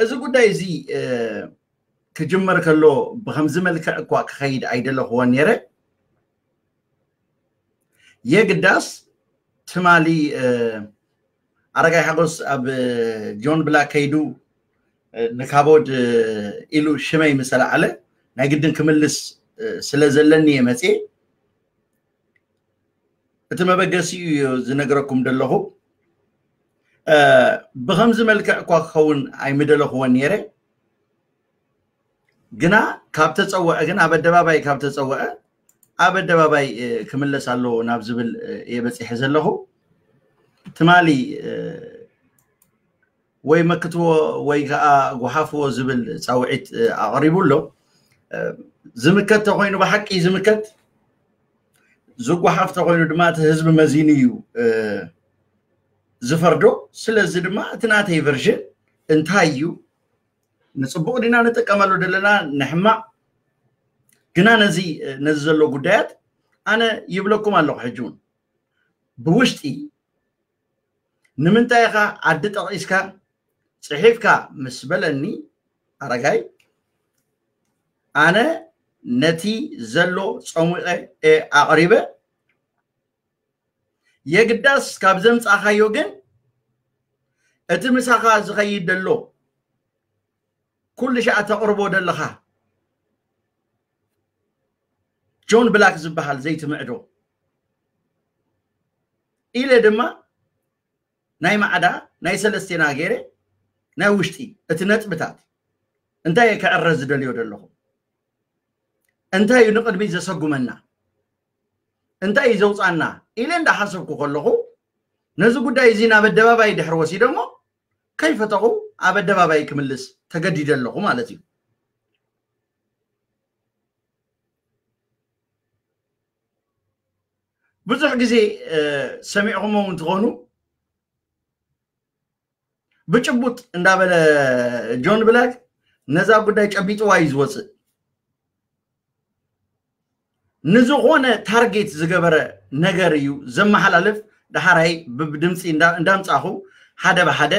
እዚ ጉዳይ እዚ ክጅመር ከሎ ብከምዚ መልክዕ እኳ ክኸይድ ኣይደለኽዎን ነይረ። የግዳስ ትማሊ ኣረጋይ ሓጎስ ኣብ ጆን ብላክ ከይዱ ንካቦድ ኢሉ ሽመይ ምስ ኣልዓለ ናይ ግድን ክምልስ ስለ ዘለኒ እየ መፅየ። እቲ መበገሲኡ እዮ ዝነግረኩም ዘለኹ። ብከምዚ መልክዕ እኳ ክኸውን ኣይምደለኽዎን ነይረ። ግና ካብ ተፀወዐ ግን ኣብ ኣደባባይ ካብ ተፀወዐ ኣብ ኣደባባይ ክምለስ ኣለዎ ናብ ዝብል እየ በፂሐ ዘለኹ። ትማሊ ወይ መክትዎ ወይ ከዓ ጎሓፍዎ ዝብል ፃውዒት ኣቕሪቡ ኣሎ። ዝምከት ተኮይኑ ብሓቂ ዝምከት፣ ዝጓሓፍ ተኮይኑ ድማ እቲ ህዝቢ መዚኑ እዩ ዝፈርዶ። ስለዚ ድማ እቲ ናተይ ቨርዥን እንታይ እዩ? ንፅቡቅ ዲና ንጥቀመሉ ዘለና ንሕማቅ? ግና ነዚ ነዚ ዘሎ ጉዳያት ኣነ ይብለኩም ኣለኹ። ሕጂ እውን ብውሽጢ ንምንታይ ኢኻ ዓዲ ጠቒስካ ጽሒፍካ ምስ በለኒ ኣረጋይ፣ ኣነ ነቲ ዘሎ ጸሙቐ እየ ኣቕሪበ። የግዳስ ካብ ዘምጻኻዮ ግን እቲ ምሳኻ ዝኸይድ ዘሎ ኩሉ ሻዕ ተቕርቦ ዘለኻ ጆን ብላክ ዝበሃል ዘይትምዕዶ ኢለ ድማ ናይ ማዕዳ ናይ ሰለስቴና ገይረ ናይ ውሽጢ እቲ ነጥብታት እንታይ እየ ክዕረ ዝደልዮ ዘለኹ፣ እንታይ እዩ ንቕድሚት ዘሰጉመና፣ እንታይ እዩ ዘውፃና ኢለ እንዳሓሰብኩ ከለኹ ነዚ ጉዳይ እዚ ናብ ኣደባባይ ድሕሪ ወሲደሞ ከይፈተኹ ኣብ ኣደባባይ ክምልስ ተገዲደ ኣለኹ ማለት እዩ። ብዙሕ ግዜ ሰሚዕኹሞ እውን ትኾኑ ብጭቡጥ እንዳበለ ጆን ብላክ ነዛ ጉዳይ ጨቢጥዋ እዩ ዝወፅእ። ንዝኾነ ታርጌት ዝገበረ ነገር እዩ ዘመሓላልፍ። ዳሓራይ ብድምፂ እንዳምፃኹ ሓደ ብሓደ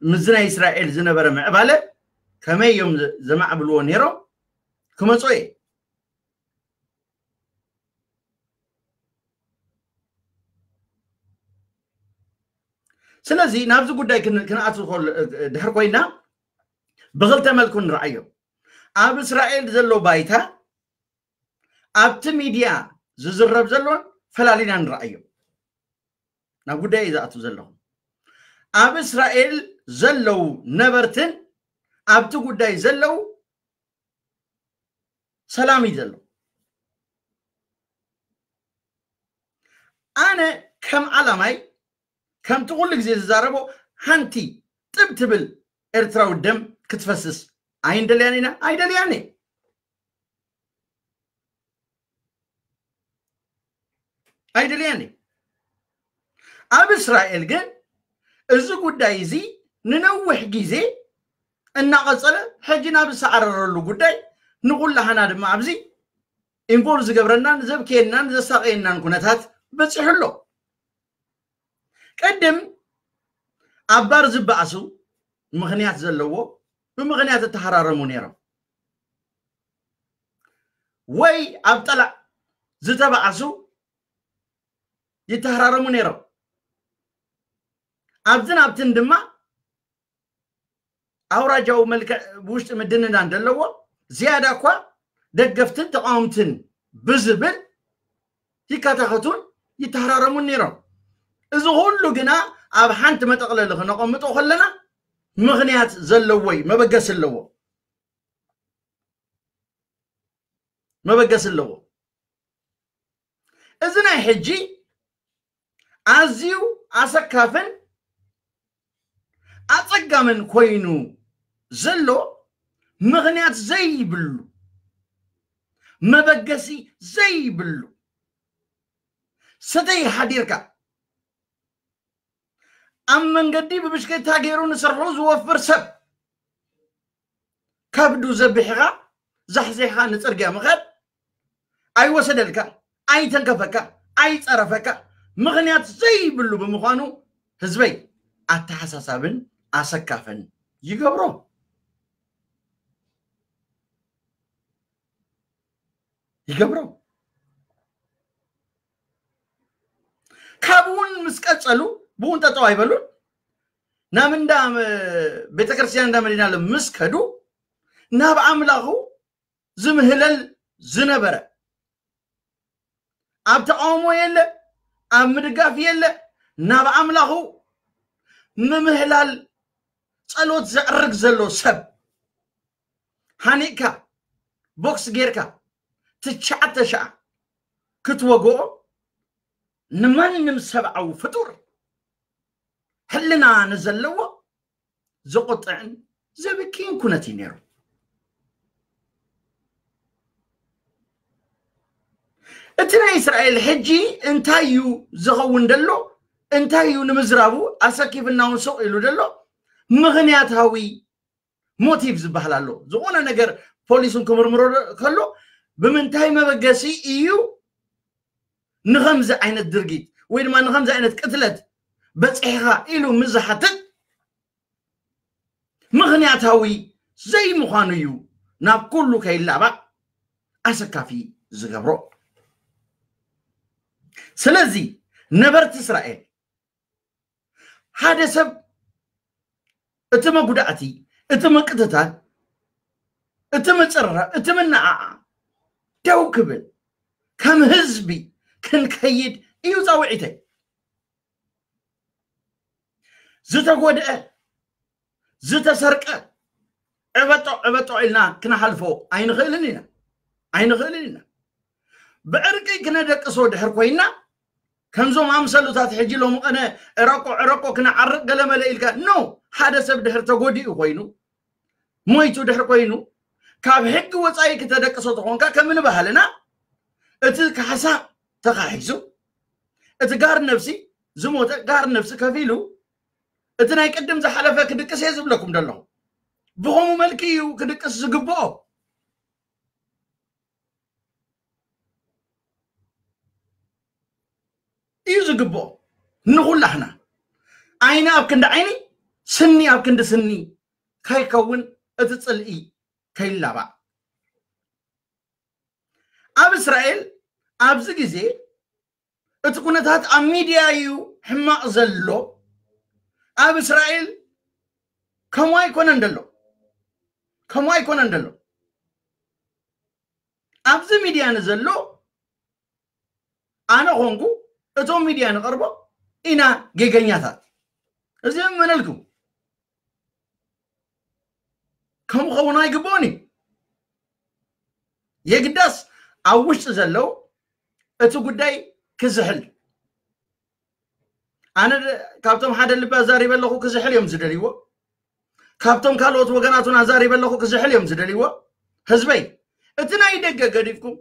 ምስዚ ናይ እስራኤል ዝነበረ ምዕባለ ከመይ እዮም ዘማዕብልዎ ነይሮም ክመፁ እየ። ስለዚ ናብዚ ጉዳይ ክንኣት ድሕር ኮይና ብክልተ መልኩ ንረኣዮ። ኣብ እስራኤል ዘሎ ባይታ ኣብቲ ሚድያ ዝዝረብ ዘሎን ፈላሊና ንረኣዮ። ናብ ጉዳይ ዝኣቱ ዘለኹ ኣብ እስራኤል ዘለዉ ነበርትን ኣብቲ ጉዳይ ዘለዉ ሰላም እዩ ዘሎ። ኣነ ከም ዓላማይ ከምቲ ኩሉ ግዜ ዝዛረቦ ሓንቲ ጥብ ትብል ኤርትራዊ ደም ክትፈስስ ኣይንደልያን ኢና፣ ኣይደልያን እየ። ኣይደልያን እየ። ኣብ እስራኤል ግን እዚ ጉዳይ እዚ ንነዊሕ ግዜ እናቐጸለ ሕጂ ናብ ዝሰዓረረሉ ጉዳይ ንኩላህና ድማ ኣብዚ ኢንቮልቭ ዝገብረናን ዘብክየናን ዘሳቀየናን ኩነታት በፂሑ ኣሎ። ቅድም ኣብ ባር ዝበኣሱ ምኽንያት ዘለዎ ብምኽንያት እተሃራረሙ ነይሮም ወይ ኣብ ጠላዕ ዝተባኣሱ ይተሃራረሙ ነይሮም። ኣብዝን ኣብትን ድማ ኣውራጃዊ መልክዕ ብውሽጢ ምድንዳን ዘለዎ ዝያዳ እኳ ደገፍትን ተቃወምትን ብዝብል ይከታኸቱን ይተሃራረሙን ነይሮም። እዚ ኩሉ ግና ኣብ ሓንቲ መጠቕለሊ ክነቐምጦ ከለና ምኽንያት ዘለዎ እዩ፣ መበገሲ ኣለዎ፣ መበገሲ ኣለዎ። እዚ ናይ ሕጂ ኣዝዩ ኣሰካፍን ኣጸጋምን ኮይኑ ዘሎ ምኽንያት ዘይብሉ፣ መበገሲ ዘይብሉ፣ ሰተይ ሓዲርካ ኣብ መንገዲ ብብሽክሌታ ገይሩ ንስርሑ ዝወፍር ሰብ ከብዱ ዘቢሕኻ ዛሕዚሕኻ ንጽርግያ ምኻድ ኣይወሰደልካ፣ ኣይተንከፈካ፣ ኣይጸረፈካ፣ ምኽንያት ዘይብሉ ብምዃኑ ህዝበይ ኣተሓሳሳብን ኣሰካፍን ይገብሮ ይገብሮ። ካብኡ እውን ምስ ቀጸሉ፣ ብኡ እውን ጠጠው ኣይበሉን። ናብ እንዳ፣ እ፣ ቤተክርስትያን እንዳ መድኃኔዓለም ምስ ከዱ፣ ናብ ኣምላኹ ዝምህለል ዝነበረ፣ ኣብ ተቃውሞ የለ፣ ኣብ ምድጋፍ የለ፣ ናብ ኣምላኹ ምምህላል፣ ጸሎት ዘዕርግ ዘሎ ሰብ ሃኒቕካ፣ ቦክስ ጌርካ፣ ትሽዓተ ሻዕ ክትወግኦ ንማንም ሰብኣዊ ፍጡር፣ ሕልና ንዘለዎ፣ ዘቆጥዕን ዘብክይን ኩነት እዩ ነይሩ። እቲ ናይ እስራኤል ሕጂ እንታይ እዩ ዝኸውን ደሎ? እንታይ እዩ ንምዝራቡ ኣሰኪፍና እውን ስቕ ኢሉ ደሎ? ምኽንያታዊ ሞቲቭ ዝበሃል ኣሎ። ዝኾነ ነገር ፖሊስን ክምርምሮ ከሎ፣ ብምንታይ መበገሲ እዩ ንኸምዚ ዓይነት ድርጊት ወይ ድማ ንኸምዚ ዓይነት ቅትለት በጺሕኻ ኢሉ ምስ ዝሓትት፣ ምኽንያታዊ ዘይምዃኑ እዩ ናብ ኩሉ ከይላባዕ ኣሰካፊ ዝገብሮ። ስለዚ ነበርቲ እስራኤል፣ ሓደ ሰብ እቲ መጉዳእቲ፣ እቲ ምቅትታል፣ እቲ ምጽርራር፣ እቲ ምንዓዓ ደው ክብል፣ ከም ህዝቢ ክንከይድ እዩ ጻውዒተይ። ዝተጎድአ፣ ዝተሰርቀ፣ ዕበጦ ዕበጦ ኢልና ክንሓልፎ ኣይንኽእልን ኢና። ኣይንኽእልን ኢና። ብዕርቂ ክነደቅሶ ድሕር ኮይና፣ ከምዞም ኣምሰሉታት ሕጂ ሎሚ ቀነ ዕረቆ ዕረቆ ክነዓርቅ ገለመለ ኢልካ፣ ኖ፣ ሓደ ሰብ ድሕር ተጎዲኡ ኮይኑ፣ ሞይቱ ድሕር ኮይኑ፣ ካብ ሕጊ ወጻኢ ክተደቅሶ ተኾንካ፣ ከም ንባህልና እቲ ካሕሳ ተኻሒሱ፣ እቲ ጋር ነፍሲ ዝሞተ ጋር ነፍሲ ከፊሉ፣ እቲ ናይ ቅድም ዝሓለፈ ክድቅስ እየ ዝብለኩም ዘለኹ። ብኸምኡ መልኪ እዩ ክድቅስ ዝግብኦ። እዩ ዝግብኦ። ንኹላህና ዓይኒ ኣብ ክንዲ ዓይኒ፣ ስኒ ኣብ ክንዲ ስኒ ከይከውን፣ እቲ ጽልኢ ከይላባዕ። ኣብ እስራኤል ኣብዚ ግዜ እቲ ኩነታት ኣብ ሚድያ እዩ ሕማቕ ዘሎ። ኣብ እስራኤል ከምኡ ኣይኮነን ዘሎ። ከምኡ ኣይኮነን ዘሎ። ኣብዚ ሚድያ ንዘሎ፣ ኣነ ኾንኩ እቶም ሚድያ ንቐርቦ ኢና ጌገኛታት። እዚ እመነልኩም። ከምኡ ኸውን ኣይግብኦን እዩ። የግዳስ ኣብ ውሽጢ ዘለዉ እቲ ጉዳይ ክዝሕል፣ ኣነ ደ-፣ ካብቶም ሓደ ልቢ ኣዛሪበ ኣለኹ ክዝሕል እዮም ዝደልይዎ። ካብቶም ካልኦት ወገናቱን ኣዛሪበ ኣለኹ ክዝሕል እዮም ዝደልይዎ። ህዝበይ፣ እቲ ናይ ደገ ገዲፍኩም፣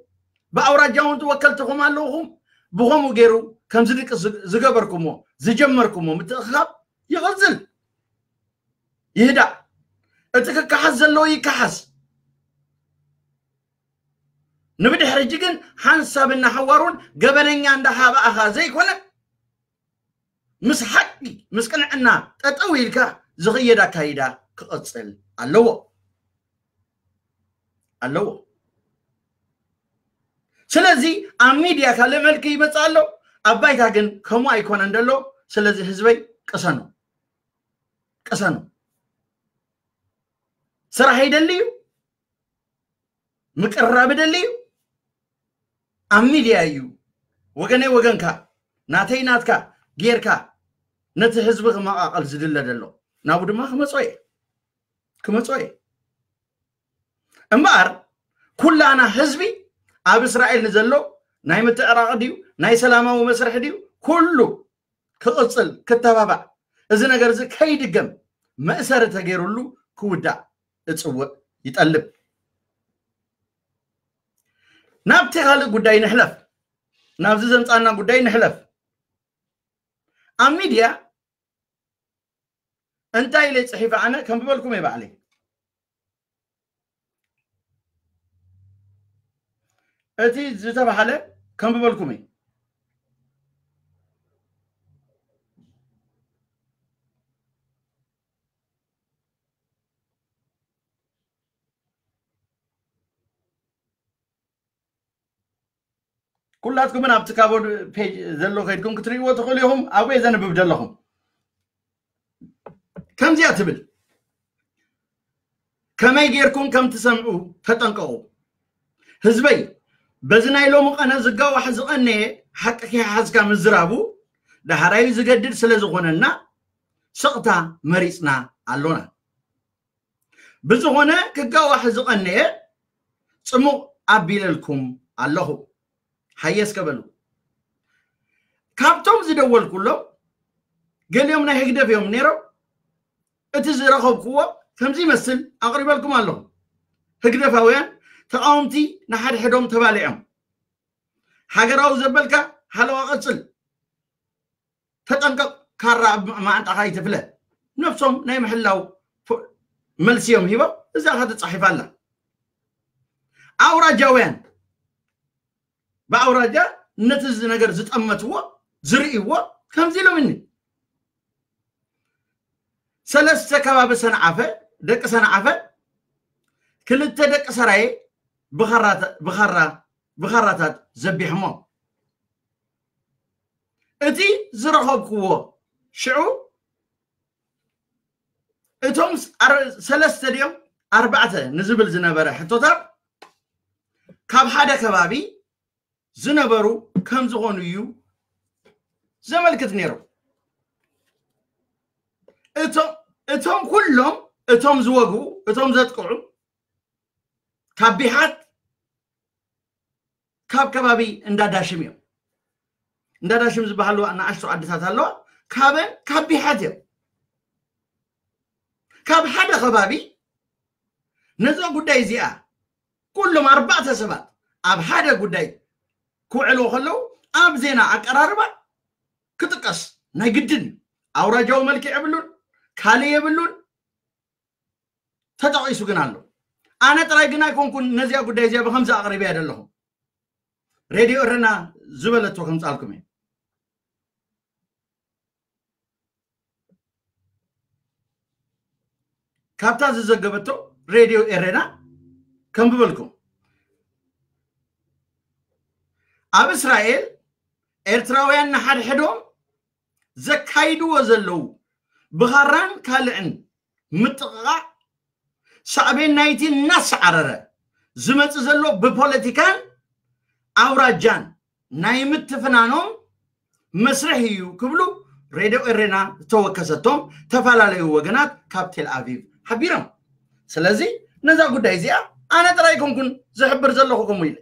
ብኣውራጃ እውን ተወከልትኹም ኣለኹም፣ ብኸምኡ ገይሩ ከምዚ ድቂ ዝ-፣ ዝገበርኩሞ፣ ዝጀመርኩሞ ምትእኽኻብ ይቕጽል፣ ይህዳእ። እቲ ክከሓስ ዘለዎ ይከሓስ። ንብድሕሪ ሕጂ ግን ሓንሳብ እናሓዋሩን ገበነኛ እንዳሃባእኻ ዘይኮነ፣ ምስ ሓቂ፣ ምስ ቅንዕና ጠጠው ኢልካ ዝኽየድ ኣካይዳ ክቕጽል ኣለዎ፣ ኣለዎ። ስለዚ ኣብ ሚድያ ካልእ መልክ ይመጽእ ኣሎ፣ ኣብ ባይታ ግን ከምኡ ኣይኮነን ደሎ። ስለዚ ህዝበይ ቅሰኑ፣ ቅሰኑ። ስራሕ ይደሊ እዩ፣ ምቅርራብ ይደሊ እዩ። ኣብ ሚድያ እዩ ወገነይ ወገንካ፣ ናተይ ናትካ ጌርካ ነቲ ህዝቢ ክመቓቐል ዝድለ ደሎ። ናብኡ ድማ ክመጾ እየ፣ ክመጾ እየ። እምበኣር ኩላና ህዝቢ ኣብ እስራኤል ንዘሎ ናይ ምትዕራቕ ድዩ፣ ናይ ሰላማዊ መስርሕ ድዩ፣ ኩሉ ክቕጽል፣ ክተባባዕ፣ እዚ ነገር እዚ ከይድገም መእሰሪ ተገይሩሉ ክውዳእ እጽውዕ፣ ይጠልብ። ናብቲ ካልእ ጉዳይ ንሕለፍ፣ ናብዚ ዘምጻና ጉዳይ ንሕለፍ። ኣብ ሚድያ እንታይ ኢለ ጽሒፈ ኣነ ከንብበልኩም እየ ባዕለይ። እቲ ዝተባህለ ከንብበልኩም እየ። ኩላትኩምን ኣብቲ ካቦድ ፔጅ ዘሎ ከይድኩም ክትርእይዎ ትኽእሉ ኢኹም። ኣብኡ እየ ዘንብብ ዘለኹም። ከምዚኣ ትብል፣ ከመይ ጌርኩም ከም ትሰምዑ ተጠንቀቑ። ህዝበይ፣ በዚ ናይ ሎሚ ቐነ ዝጋዋሕ ዝቐነየ ሓቂ ከይሓዝካ ምዝራቡ ዳሕራዩ ዝገድድ ስለ ዝኾነና ስቕታ መሪጽና ኣሎና። ብዝኾነ ክጋዋሕ ዝቐነየ ጽሙቕ ኣቢለልኩም ኣለኹ። ሓየስ ከበሉ። ካብቶም ዝደወልኩሎም ገሊኦም ናይ ህግደፍ እዮም ነይሮም። እቲ ዝረኸብኩዎ ከምዚ ይመስል ኣቕሪበልኩም ኣለኹ። ህግደፋውያን ተቓወምቲ ንሓድሕዶም ተባሊዖም። ሃገራዊ ዘበልካ ሓለዋ ቀጽል። ተጠንቀቕ፣ ካራ ኣብ ማዓንጣኻ ይትፍለ። ነብሶም ናይ ምሕላው ፎ-፣ መልሲ እዮም ሂቦም። እዛ ኸ ተጻሒፋ ኣላ። ኣውራጃውያን ብኣውራጃ ነቲ እዚ ነገር ዝጠመትዎ፣ ዝርእይዎ ከምዚ ኢሎምኒ። ሰለስተ ከባቢ ሰንዓፈ፣ ደቂ ሰንዓፈ፣ ክልተ ደቂ ሰራየ ብኻራ-፣ ብኻራ-፣ ብኻራታት ዘቢሖሞ። እቲ ዝረኸብክዎ ሽዑ፣ እቶም ስ-፣ ኣር-፣ ሰለስተ ድዮም ኣርባዕተ ንዝብል ዝነበረ ሕቶታት ካብ ሓደ ከባቢ ዝነበሩ ከም ዝኾኑ እዩ ዘመልክት ነይሩ። እቶም፣ እቶም ኩሎም፣ እቶም ዝወግኡ፣ እቶም ዘጥቅዑ ካብ ቢሓት፣ ካብ ከባቢ እንዳዳሽም እዮም። እንዳዳሽም ዝበሃሉ ንኣሽቱ ዓድታት ኣለዋ። ካብን ካብ ቢሓት እዮም። ካብ ሓደ ከባቢ ነዛ ጉዳይ እዚኣ ኩሎም ኣርባዕተ ሰባት ኣብ ሓደ ጉዳይ ክውዕልዎ ከለዉ ኣብ ዜና ኣቀራርባ ክጥቀስ ናይ ግድን እዩ። ኣውራጃዊ መልክዕ የብሉን፣ ካልእ የብሉን። ተጠቒሱ ግን ኣሎ። ኣነ ጥራይ ግን ኣይኮንኩን ነዚኣ ጉዳይ እዚኣ ብኸምዚ ኣቕሪበያ ዘለኹ። ሬድዮ እረና ዝበለቶ ከምጻልኩም እየ። ካብታ ዝዘገበቶ ሬድዮ ኤሬና ከንብበልኩም። ኣብ እስራኤል ኤርትራውያን ንሓድሕዶም ዘካይድዎ ዘለዉ ብኻራን ካልዕን ምጥቕቓዕ ሳዕቤን ናይቲ እናሰዓረረ ዝመጽእ ዘሎ ብፖለቲካን ኣውራጃን ናይ ምትፍናኖም መስርሕ እዩ ክብሉ ሬድዮ ኤሬና ዝተወከሰቶም ተፈላለዩ ወገናት ካብ ቴል ኣቪቭ ሓቢሮም። ስለዚ ነዛ ጉዳይ እዚኣ ኣነ ጥራይ ኣይኮንኩን ዝሕብር ዘለኹ ከምኡ ኢለ።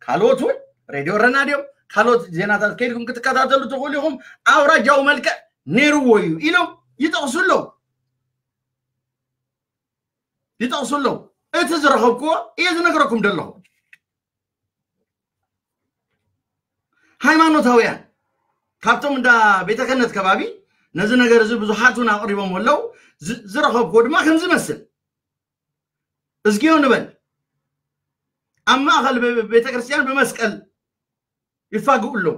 ካልኦት እውን ሬድዮ ኤሬና ድዮም ካልኦት ዜናታት ከይድኩም ክትከታተሉ ትኽእሉ ኢኹም። ኣውራጃዊ መልክዕ ነይርዎ እዩ ኢሎም ይጠቕሱ ኣለዉ። ይጠቕሱ ኣለዉ። እቲ ዝረኸብክዎ እየ ዝነግረኩም ዘለኹ። ሃይማኖታውያን ካብቶም እንዳ ቤተ ክህነት ከባቢ ነዚ ነገር እዚ ብዙሓት እውን ኣቕሪቦም ኣለዉ። ዝ-፣ ዝረኸብክዎ ድማ ከምዚ ይመስል። እዝግዮ ንበል። ኣብ ማእኸል ብ-፣ ቤተ ክርስቲያን ብመስቀል ይፋግኡ ኣለዉ።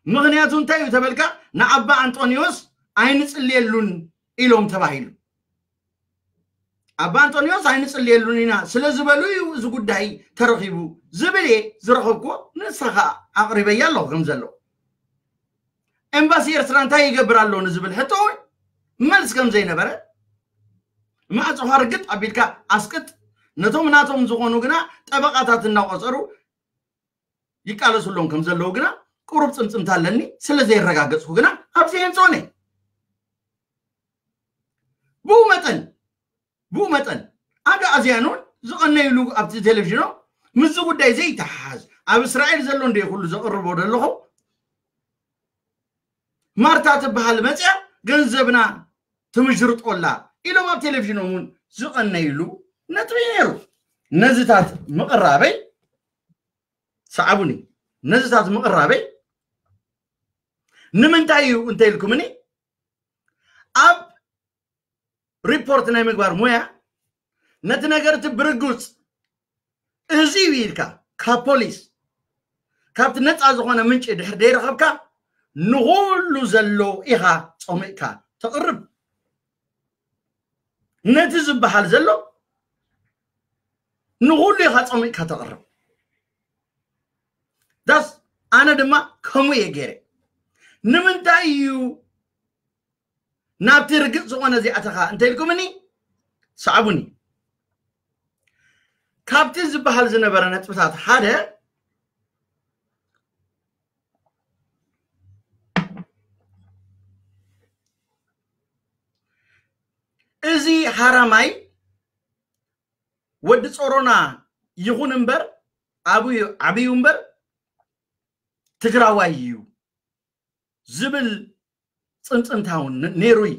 ምኽንያቱ እንታይ እዩ ተበልካ፣ ንኣባ ኣንጦንዮስ ኣይንጽልየሉን ኢሎም ተባሂሉ። ኣባ ኣንጦንዮስ ኣይንጽልየሉን ኢና ስለ ዝበሉ እዩ እዚ ጉዳይ ተረኺቡ ዝብል እየ ዝረኸብክዎ። ንሳ ኸኣ ኣቕሪበያ ኣለኹ ከም ዘሎ። ኤምባሲ ኤርትራ እንታይ ይገብር ኣሎ ንዝብል ሕቶ እውን መልስ ከም ዘይነበረ፣ ማዕጾኻ ርግጥ ኣቢልካ ኣስቅጥ። ነቶም ናቶም ዝኾኑ ግና ጠበቓታት እናቖጸሩ ይቃለሱሎም ከም ዘለዉ ግና ቁሩብ ጽምጽምታ ኣለኒ። ስለ ዘየረጋገጽኩ ግና ኣብዚ የንጽሆን እየ። ብኡ መጠን፣ ብኡ መጠን ኣግኣዝያን እውን ዝቐነይሉ ኣብቲ ቴሌቪዥኖም ምስዚ ጉዳይ ዘይተሓሓዝ ኣብ እስራኤል ዘሎ እንደ ኩሉ ዘቕርቦ ዘለኹ ማርታ ትበሃል መፅያ ገንዘብና ትምሽርጦላ ኢሎም ኣብ ቴሌቪዥኖም እውን ዝቐነይሉ ነጥቢ እዩ ነይሩ። ነዚታት ምቕራበይ፣ ሰዓቡኒ፣ ነዚታት ምቕራበይ ንምንታይ እዩ እንተኢልኩምኒ፣ ኣብ ሪፖርት ናይ ምግባር ሞያ ነቲ ነገር እቲ ብርግጽ እዚ እዩ ኢልካ ካብ ፖሊስ፣ ካብቲ ነጻ ዝኾነ ምንጪ ድሕር ደይረኸብካ፣ ንኹሉ ዘሎ ኢኻ ጸሚቕካ ተቕርብ። ነቲ ዝበሃል ዘሎ ንኹሉ ኢኻ ጸሚቕካ ተቕርብ። ዳስ ኣነ ድማ ከምኡ እየ ገይረ። ንምንታይ እዩ ናብቲ ርግጽ ዝኾነ እዚኣተኻ እንተ ኢልኩምኒ፣ ሰዕቡኒ። ካብቲ ዝበሃል ዝነበረ ነጥብታት ሓደ፣ እዚ ሃራማይ ወዲ ጾሮና ይኹን እምበር፣ ኣብዩ፣ ዓብዩ እምበር፣ ትግራዋይ እዩ ዝብል ጽምጽምታ እውን ነ-፣ ነይሩ እዩ።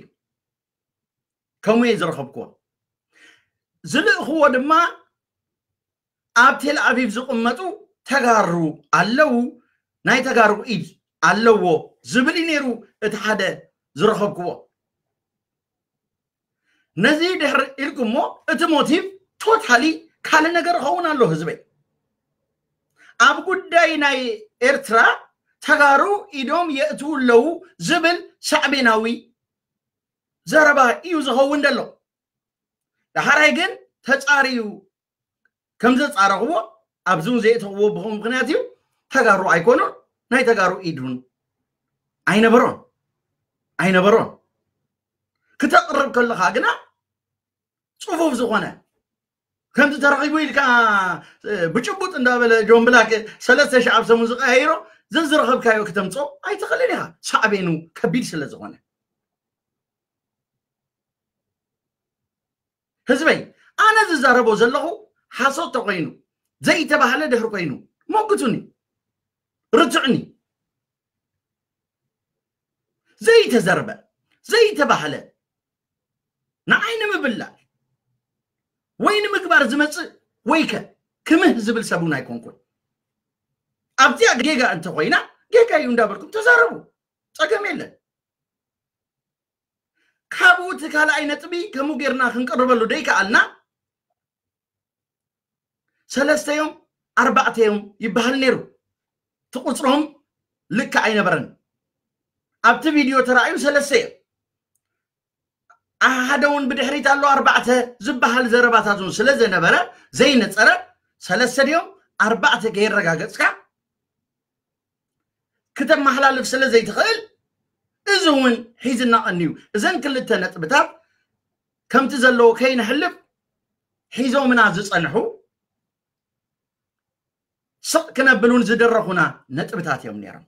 ከምኡ እየ ዝረኸብክዎ። ዝልእኽዎ ድማ ኣብ ቴል ኣቪቭ ዝቕመጡ ተጋሩ ኣለዉ፣ ናይ ተጋሩ ኢድ ኣለዎ ዝብል እዩ ነይሩ እቲ ሓደ ዝረኸብክዎ። ነዚ ድሕሪ ኢልኩሞ፣ እቲ ሞቲቭ ቶታሊ ካልእ ነገር ይኸውን ኣሎ ህዝበይ። ኣብ ጉዳይ ናይ ኤርትራ ተጋሩ ኢዶም የእትዉ ኣለዉ ዝብል ሳዕቤናዊ ዘረባ እዩ ዝኸውን ዘሎ። ዳሕራይ ግን ተጻርዩ ከም ዘጻረኽዎ፣ ኣብዚ እውን ዘየእተኽዎ ብኸምኡ ምኽንያት እዩ። ተጋሩ ኣይኮኑን፣ ናይ ተጋሩ ኢድ እውን ኣይነበሮን፣ ኣይነበሮን። ክተቕርብ ከለኻ ግና ጽፉፍ ዝኾነ፣ ከምዚ ተረኺቡ ኢልካ፣ እ፣ ብጭቡጥ እንዳበለ ጆን ብላክ ሰለስተ ሺሕ ኣብ ሰሙን ዝቀያይሮ፣ ዘዝረኸብካዮ ክተምጾ ኣይትኽእልን ኢኻ፣ ሳዕቤኑ ከቢድ ስለ ዝኾነ። ህዝበይ፣ ኣነ ዝዛረቦ ዘለኹ ሓሶት ተኾይኑ፣ ዘይተባህለ ድሕሪ ኮይኑ፣ ሞግቱኒ፣ ርትዑኒ። ዘይተዘርበ፣ ዘይተባህለ፣ ንዓይ ንምብላዕ ወይ ንምግባር ዝመጽእ፣ ወይከ ክምህ ዝብል ሰብ እውን ኣይኮንኩን። ኣብዚኣ ጌጋ እንተኾይና፣ ጌጋ እዩ እንዳበልኩም ተዛረቡ። ጸገም የለን። ካብኡ እቲ ካልኣይ ነጥቢ ከምኡ ጌርና ክንቅርበሉ ደይከኣልና፣ ሰለስተ እዮም፣ ኣርባዕተ እዮም ይበሃል ነይሩ። እቲ ቁጽሮም ልክዕ ኣይነበረን። ኣብቲ ቪድዮ ተራእዩ ሰለስተ እዮም። ሓደ እውን ብድሕሪት ኣሎ ኣርባዕተ ዝበሃል ዘረባታት እውን ስለ ዘነበረ፣ ዘይነጸረ፣ ሰለስተ ድዮም ኣርባዕተ ከየረጋገጽካ ክተመሓላልፍ ስለ ዘይትኽእል፣ እዚ እውን ሒዝና ቀንዩ። እዘን ክልተ ነጥብታት ከምቲ ዘለዎ ከይነሕልፍ ሒዞምና ዝጸንሑ፣ ስቕ ክነብል እውን ዝደረኹና ነጥብታት እዮም ነይሮም።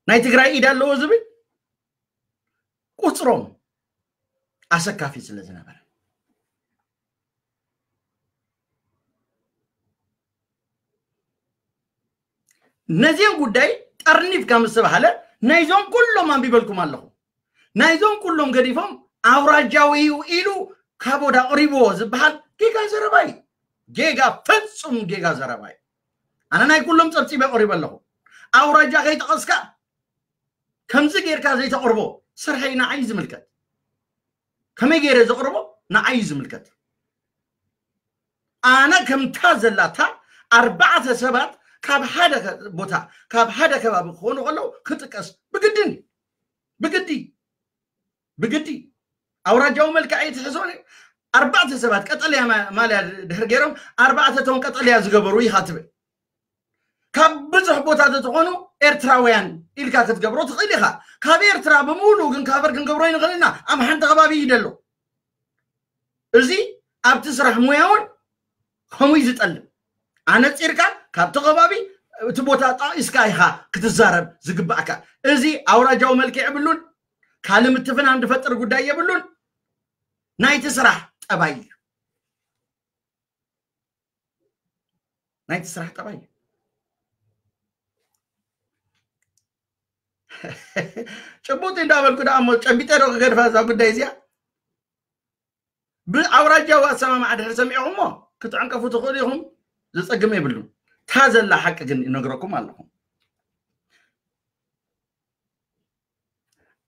ናይ ትግራይ ኢድ ኣለዎ ዝብል ቁጽሮም ኣሰካፊ ስለ ዝነበረ፣ ነዚኦም ጉዳይ ጠርኒፍካ ምስ ተባሃለ፣ ናይዞም ኩሎም ኣንቢበልኩም ኣለኹ። ናይዞም ኩሎም ገዲፎም ኣውራጃዊ እዩ ኢሉ ካቦድ ኣቕሪብዎ ዝበሃል ጌጋ ዘረባ እዩ። ጌጋ፣ ፍጹም ጌጋ ዘረባ እዩ። ኣነ ናይ ኩሎም ጸብጺበ ኣቕሪበ ኣለኹ። ኣውራጃ ከይጠቐስካ ከምዚ ጌርካ ዘይተቕርቦ፣ ስርሐይ ንዓይ ዝምልከት። ከመይ ገይረ ዘቕርቦ ንዓይ ዝምልከት። ኣነ ከምታ ዘላታ ኣርባዕተ ሰባት ካብ ሓደ ከ-፣ ቦታ፣ ካብ ሓደ ከባቢ ክኾኑ ከለዉ ክጥቀስ ብግድን፣ ብግዲ፣ ብግዲ። ኣውራጃዊ መልክዕ ኣይትሕዞን እዩ። ኣርባዕተ ሰባት ቀጠልያ ማ-፣ ማልያ ድሕር ገይሮም፣ ኣርባዕተ እቶም ቀጠልያ ዝገበሩ ኢኻ ትብል። ካብ ብዙሕ ቦታ ተትኾኑ ኤርትራውያን ኢልካ ክትገብሮ ትኽእል ኢኻ። ካብ ኤርትራ ብምሉኡ ግን ካቨር ክንገብሮ ይንኽእል ኢና። ኣብ ሓንቲ ከባቢ እዩ ደሎ። እዚ ኣብቲ ስራሕ ሙያ እውን ከምኡ እዩ ዝጠልብ። ኣነጺርካ ካብቲ ከባቢ እቲ ቦታ ጠቒስካ ኢኻ ክትዛረብ ዝግባእካ። እዚ ኣውራጃዊ መልክዕ የብሉን፣ ካልእ ምትፍናን ዝፈጥር ጉዳይ የብሉን። ናይቲ ስራሕ ጠባይ እዩ። ናይቲ ስራሕ ጠባይ እዩ። ጭቡጥ እንዳበልኩ ደኣ እሞ ጨቢጠ ዶ ክገድፋ እዛ ጉዳይ እዚኣ? ብኣውራጃዊ ኣሰማምዓ ድሕሪ ሰሚዕኹሞ ክትዕንቀፉ ትኽእሉ ኢኹም፣ ዘጸግም የብሉን። እታ ዘላ ሓቂ ግን ይነግረኩም ኣለኹ።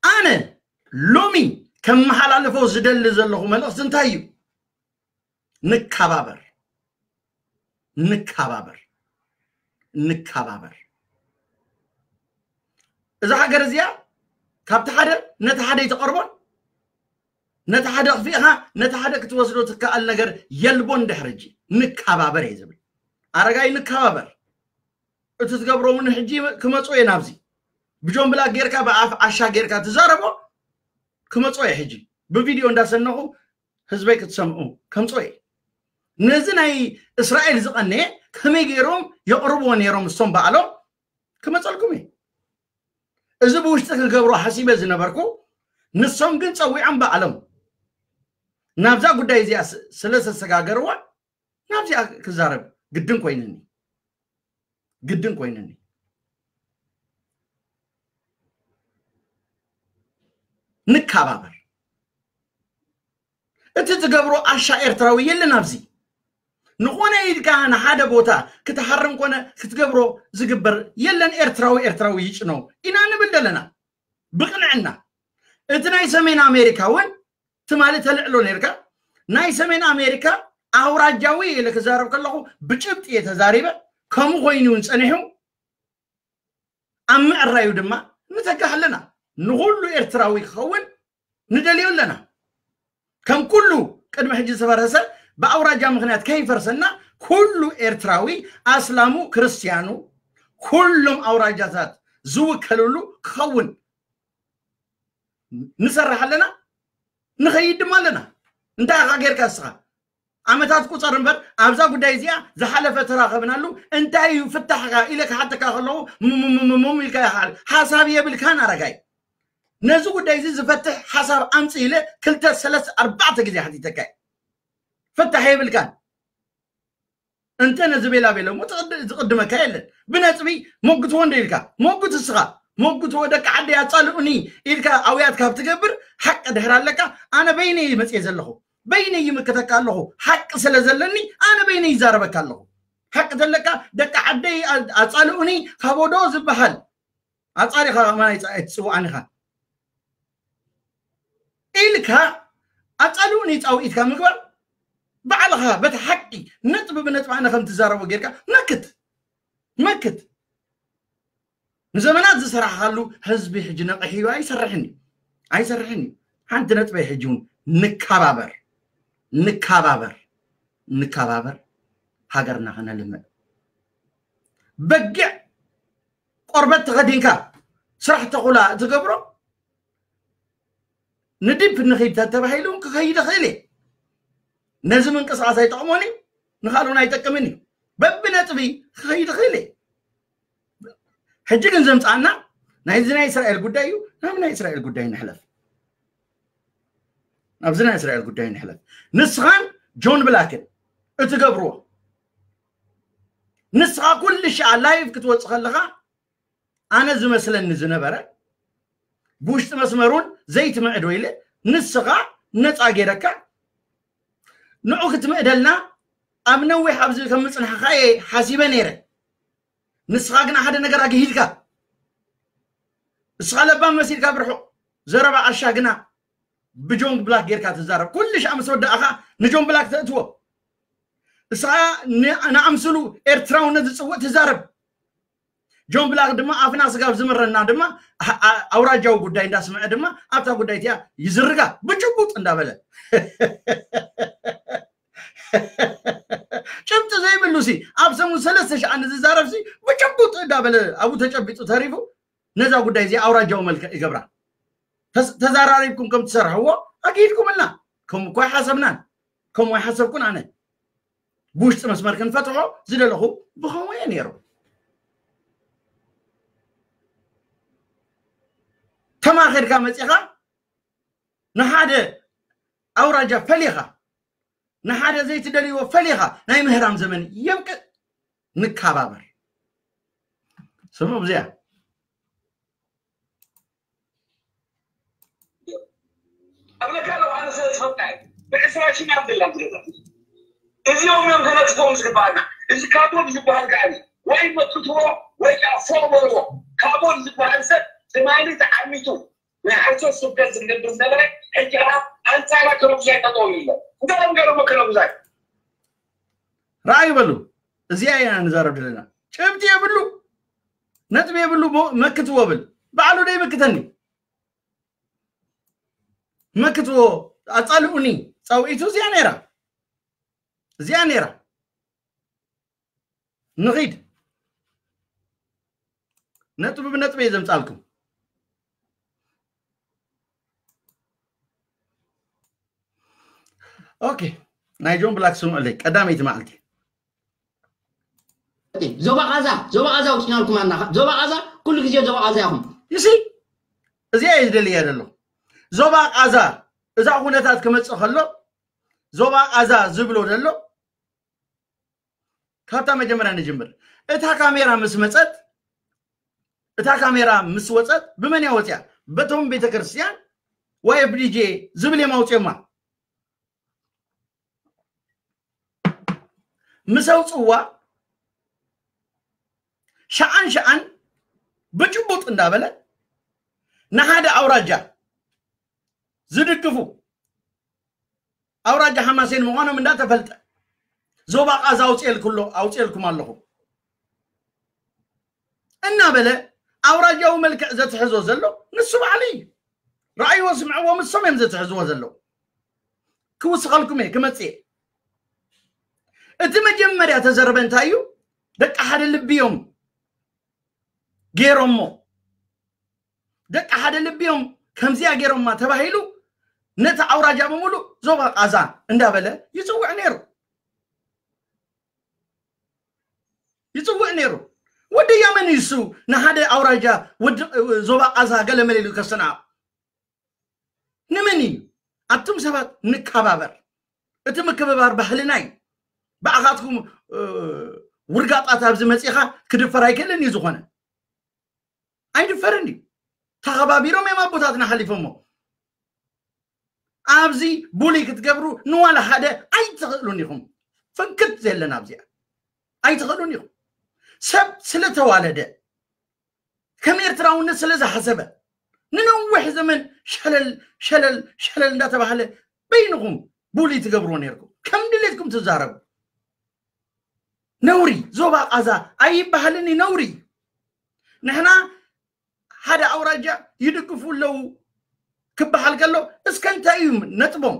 ኣነ ሎሚ ከመሓላልፎ ዝደሊ ዘለኹ መልእኽቲ እንታይ እዩ? ንከባበር፣ ንከባበር፣ ንከባበር። እዛ ሃገር እዚኣ ካብቲ ሓደ ነቲ ሓደ ኣይትቐርቦን፣ ነቲ ሓደ ኣኽፊእኻ ነቲ ሓደ ክትወስዶ ትከኣል ነገር የልቦን። ድሕሪ ሕጂ ንከባበር እየ ዝብል። ኣረጋይ ንከባበር። እቲ ትገብሮ እውን ሕጂ ክመፁ እየ ናብዚ ብጆን ብላክ ጌርካ ብኣፍ ዓሻ ጌርካ ትዛረቦ ክመፁ እየ ሕጂ ብቪድዮ እንዳሰነኹ ህዝበይ ክትሰምዑ ከምፅኦ እየ። ነዚ ናይ እስራኤል ዝቐነየ ከመይ ገይሮም የቕርብዎ ነይሮም እሶም በዓሎም ክመፀልኩም እየ። እዚ ብውሽጢ ክገብሮ ሓሲበ ዝነበርኩ ንሶም ግን ፀዊዖም በዓሎም ናብዛ ጉዳይ እዚኣ ስለ ዘሰጋገርዋ ናብዚኣ ክዛረብ ግድን ኮይንኒ ግድን ኮይንኒ። ንከባበር። እቲ ትገብሮ ኣሻ ኤርትራዊ የለን ኣብዚ። ንኾነ ኢልካ ንሓደ ቦታ ክትሃርም ኮነ ክትገብሮ ዝግበር የለን። ኤርትራዊ ኤርትራዊ ይጭኖ ኢና ንብል ዘለና ብቕንዕና። እቲ ናይ ሰሜን ኣሜሪካ እውን ትማሊ ተልዕሎ ነርካ። ናይ ሰሜን ኣሜሪካ ኣውራጃዊ ኢለ ክዛረብ ከለኹ ብጭብጢ እየ ተዛሪበ። ከምኡ ኮይኑ እውን ፀኒሑ ኣብ ምዕራዩ ድማ ንተጋህ ኣለና። ንኹሉ ኤርትራዊ ክኸውን ንደልዮ ኣለና። ከም ኩሉ ቅድሚ ሕጂ ዝፈረሰ ብኣውራጃ ምኽንያት ከይፈርሰና ኩሉ ኤርትራዊ ኣስላሙ ክርስትያኑ ኩሎም ኣውራጃታት ዝውከልሉ ክኸውን ንሰርሕ ኣለና። ንኸይድ ድማ ኣለና። እንታይ ኢኻ ጌርካ እስኻ? ዓመታት ቁፀር እምበር ኣብዛ ጉዳይ እዚኣ ዝሓለፈ ተራኸብናሉ እንታይ እዩ ፍታሕካ ኢለ ክሓተካ ከለኹ ምምምምም ኢልካ ይሓል ሓሳብ የብልካን ኣረጋይ። ነዚ ጉዳይ እዚ ዝፈትሕ ሓሳብ ኣምፅ ኢለ ክልተ ሰለስተ ኣርባዕተ ግዜ ሓቲተካ ፍታሕ የብልካን። እንተ ነዚ ቤላ ቤለ እሞ ዝቕድመካ የለን። ብነጥቢ ሞግትዎ እንደ ኢልካ ሞግት እስኻ ሞግትዎ ደቂ ዓደይ ኣጻልኡኒ ኢልካ ኣውያት ካብ ትገብር ሓቂ ድሕር ኣለካ። ኣነ በይነይ መጽየ ዘለኹ በይነይ ይምክተካ ኣለኹ። ሓቂ ስለ ዘለኒ ኣነ በይነይ ይዛረበካ ኣለኹ። ሓቂ ዘለካ ደቂ ዓደይ ኣጻልኡኒ ካቦዶ ዝበሃል ኣጻሪኻ ማይ ኣይትጽውዓን ኢኻ ኢልካ ኣጻልኡኒ ጻውኢትካ ምግባር ባዕልኻ በቲ ሓቂ ነጥቢ ብነጥቢ ኣነ ከም ትዛረቦ ጌርካ መክት መክት ንዘመናት ዝሰራሕካሉ ህዝቢ ሕጂ ነቒሕዩ ኣይሰርሕን እዩ ኣይሰርሕን እዩ። ሓንቲ ነጥበይ ሕጂ እውን ንከባበር ንከባበር ንከባበር ሃገርና ከነልምዕ በጊዕ ቆርበት ተኸዲንካ ስራሕ ተኹላ እትገብሮ ንዲፕ ንኺድ ተተባሂሉ ክኸይድ ይኽእል እየ። ነዚ ምንቅስቃስ ኣይጠቕሞን እዩ ንኻልኡን ኣይጠቅምን እዩ። በብነጥቢ ክኸይድ ይኽእል እየ። ሕጂ ግን ዘምፃና ናይዚ ናይ እስራኤል ጉዳይ እዩ። ናብ ናይ እስራኤል ጉዳይ ንሕለፍ። ናብዚ ናይ እስራኤል ጉዳይ ንሕለፍ። ንስኻን ጆን ብላክን እትገብርዎ ንስኻ ኩሉ ሻዓ ላይቭ ክትወፅእ ከለኻ ኣነ ዝመስለኒ ዝነበረ ብውሽጢ መስመሩን ዘይትምዕዶ ኢለ ንስኻ ነፃ ገይረካ ንዑ ክትምዕደልና ኣብ ነዊሕ ኣብዚ ከም ምፅናሕኻ እየ ሓሲበ ነይረ። ንስኻ ግና ሓደ ነገር ኣግሂድካ እስኻ ለባም መሲልካ ብርሑቕ ዘረባ ዓሻ ግና ብጆን ብላክ ጌርካ ትዛረብ ኩሉ ሻዕ ምስ ወዳእኻ ንጆን ብላክ ተእትዎ እስኻ ንኣምስሉ ኤርትራውነት ዝፅውእ ትዛረብ ጆን ብላክ ድማ ኣፍና ስጋብ ዝምረና ድማ ኣውራጃዊ ጉዳይ እንዳስምዐ ድማ ኣብታ ጉዳይ እቲኣ ይዝርጋ ብጭቡጥ እንዳበለ ጭብጢ ዘይብሉ ሲ ኣብ ሰሙን ሰለስተ ሺዓ ንዝዛረብ ሲ ብጭቡጥ እንዳበለ ኣብኡ ተጨቢጡ ተሪፉ ነዛ ጉዳይ እዚ ኣውራጃዊ መልክዕ ይገብራ ተዘራሪብኩም ከም ትሰርሕዎ ኣግሂድኩምልና ከምኡ እኳ ኣይሓሰብናን ከምኡ ኣይሓሰብኩን ኣነ ብውሽጢ መስመር ክንፈትሖ ዝደለኹ ብኸምኡ እየ ነይሩ ተማኺርካ መፂኻ ንሓደ ኣውራጃ ፈሊኻ ንሓደ ዘይትደልይዎ ፈሊኻ ናይ ምህራም ዘመን የብቅዕ ንከባበር ስምዑ ብዚኣ ኣብለካ ኣለኹ ኣነ ስለ ዝፈልጣ እየ ብዕስራ ሽሕ ኣብ ዘላ ዝገዛ እዚኦም እዮም ከነጥፍኦም ዝግባኣና እዚ ካቦድ ዝበሃል ከዓ ወይ መክትዎ ወይ ከዓ ፎቕ በልዎ ካቦድ ዝበሃል ሰብ ትማሊ ተዓሚቱ ናይ ሓሶት ስብከት ዝገብር ዝነበረ ሕጂ ከዓ ኣንፃራ ከረጉዛይ ጠጠው ኢሉ ኣሎ እንታይ እዮም ገይሮሞ ከረጉዛይ ረኣዩ በሉ እዚኣ ኢና ንዛረብ ዘለና ጭብጢ የብሉ ነጥቢ የብሉ መክትዎ ብል ባዕሉ ዶ ይምክተኒ መክትዎ ኣጻልኡኒ ጻውዒቱ እዚኣ ነይራ፣ እዚኣ ነይራ። ንኺድ ነጥቢ ብነጥቢ እየ ዘምጻልኩም። ኦኬ፣ ናይ ጆን ብላክ ስምዑለይ። ቀዳመይቲ መዓልቲ ዞባ ቃዛ ዞባ ቃዛ ውፅናልኩም ኣና ዞባ ቃዛ ኩሉ ግዜ ዞባ ቃዛ ኢኹም። ይሲ እዚኣ እየ ዝደልያ ዘለኹ። ዞባ ቃዛ እዛ ኩነታት ክመፅእ ከሎ ዞባ ቃዛ ዝብሎ ዘሎ ካብታ መጀመርያ ንጅምር። እታ ካሜራ ምስ መፀት እታ ካሜራ ምስ ወፀት ብመን እያ ወፅያ? በቶም ቤተክርስትያን ዋይ ኤፍ ዲ ጄ ዝብል እዮም ኣውፅዮማ። ምስ ኣውፅዋ ሸዓን ሸዓን ብጭቡጥ እንዳበለ ንሓደ ኣውራጃ ዝድግፉ ኣውራጃ ሓማሴን ምዃኖም እንዳተፈልጠ ዞባ ቃዛ ኣውፅኤልኩሎ ኣውፅኤልኩም ኣለኹ እናበለ ኣውራጃዊ መልክዕ ዘትሕዞ ዘሎ ንሱ ባዕሉ እዩ። ረኣይዎ ስምዕዎ ምሶም እዮም ዘትሕዝዎ ዘለዉ። ክውስኸልኩም እየ ክመፅእ እየ። እቲ መጀመርያ ተዘረበ እንታይ እዩ? ደቂ ሓደ ልቢ እዮም ገይሮሞ። ደቂ ሓደ ልቢ እዮም ከምዚኣ ገይሮማ ተባሂሉ ነቲ ኣውራጃ ብምሉእ ዞባ ቃዛ እንዳበለ ይፅውዕ ነይሩ። ይፅውዕ ነይሩ። ወዲ ያመን እዩ እሱ ንሓደ ኣውራጃ ወዲ ዞባ ቃዛ ገለ መለ ኢሉ ከስተንዕቕ። ንመን እዩ? ኣቱም ሰባት ንከባበር። እቲ ምክብባር ባህልና እዩ። ብኣኻትኩም ውርጋጣት ኣብዚ መፂኻ ክድፈር ኣይክእልን እዩ ዝኾነ ኣይድፈርን እዩ። ተኸባቢሮም እዮም ኣቦታትና ሓሊፎሞ። ኣብዚ ቡሊ ክትገብሩ ንዋላ ሓደ ኣይትኽእሉን ኢኹም። ፍንክት ዘለን ኣብዚኣ ኣይትኽእሉን ኢኹም። ሰብ ስለተዋለደ ከም ኤርትራውነት ስለ ዝሓሰበ ንነዊሕ ዘመን ሸለል ሸለል ሸለል እንዳተባህለ በይንኹም ቡሊ ትገብርዎ ነይርኩም። ከም ድሌትኩም ትዛረቡ። ነውሪ ዞባ ቃዛ ኣይበሃልን እዩ፣ ነውሪ። ንሕና ሓደ ኣውራጃ ይድግፉ ኣለዉ ክበሃል ከሎ እስከ እንታይ እዩ ነጥቦም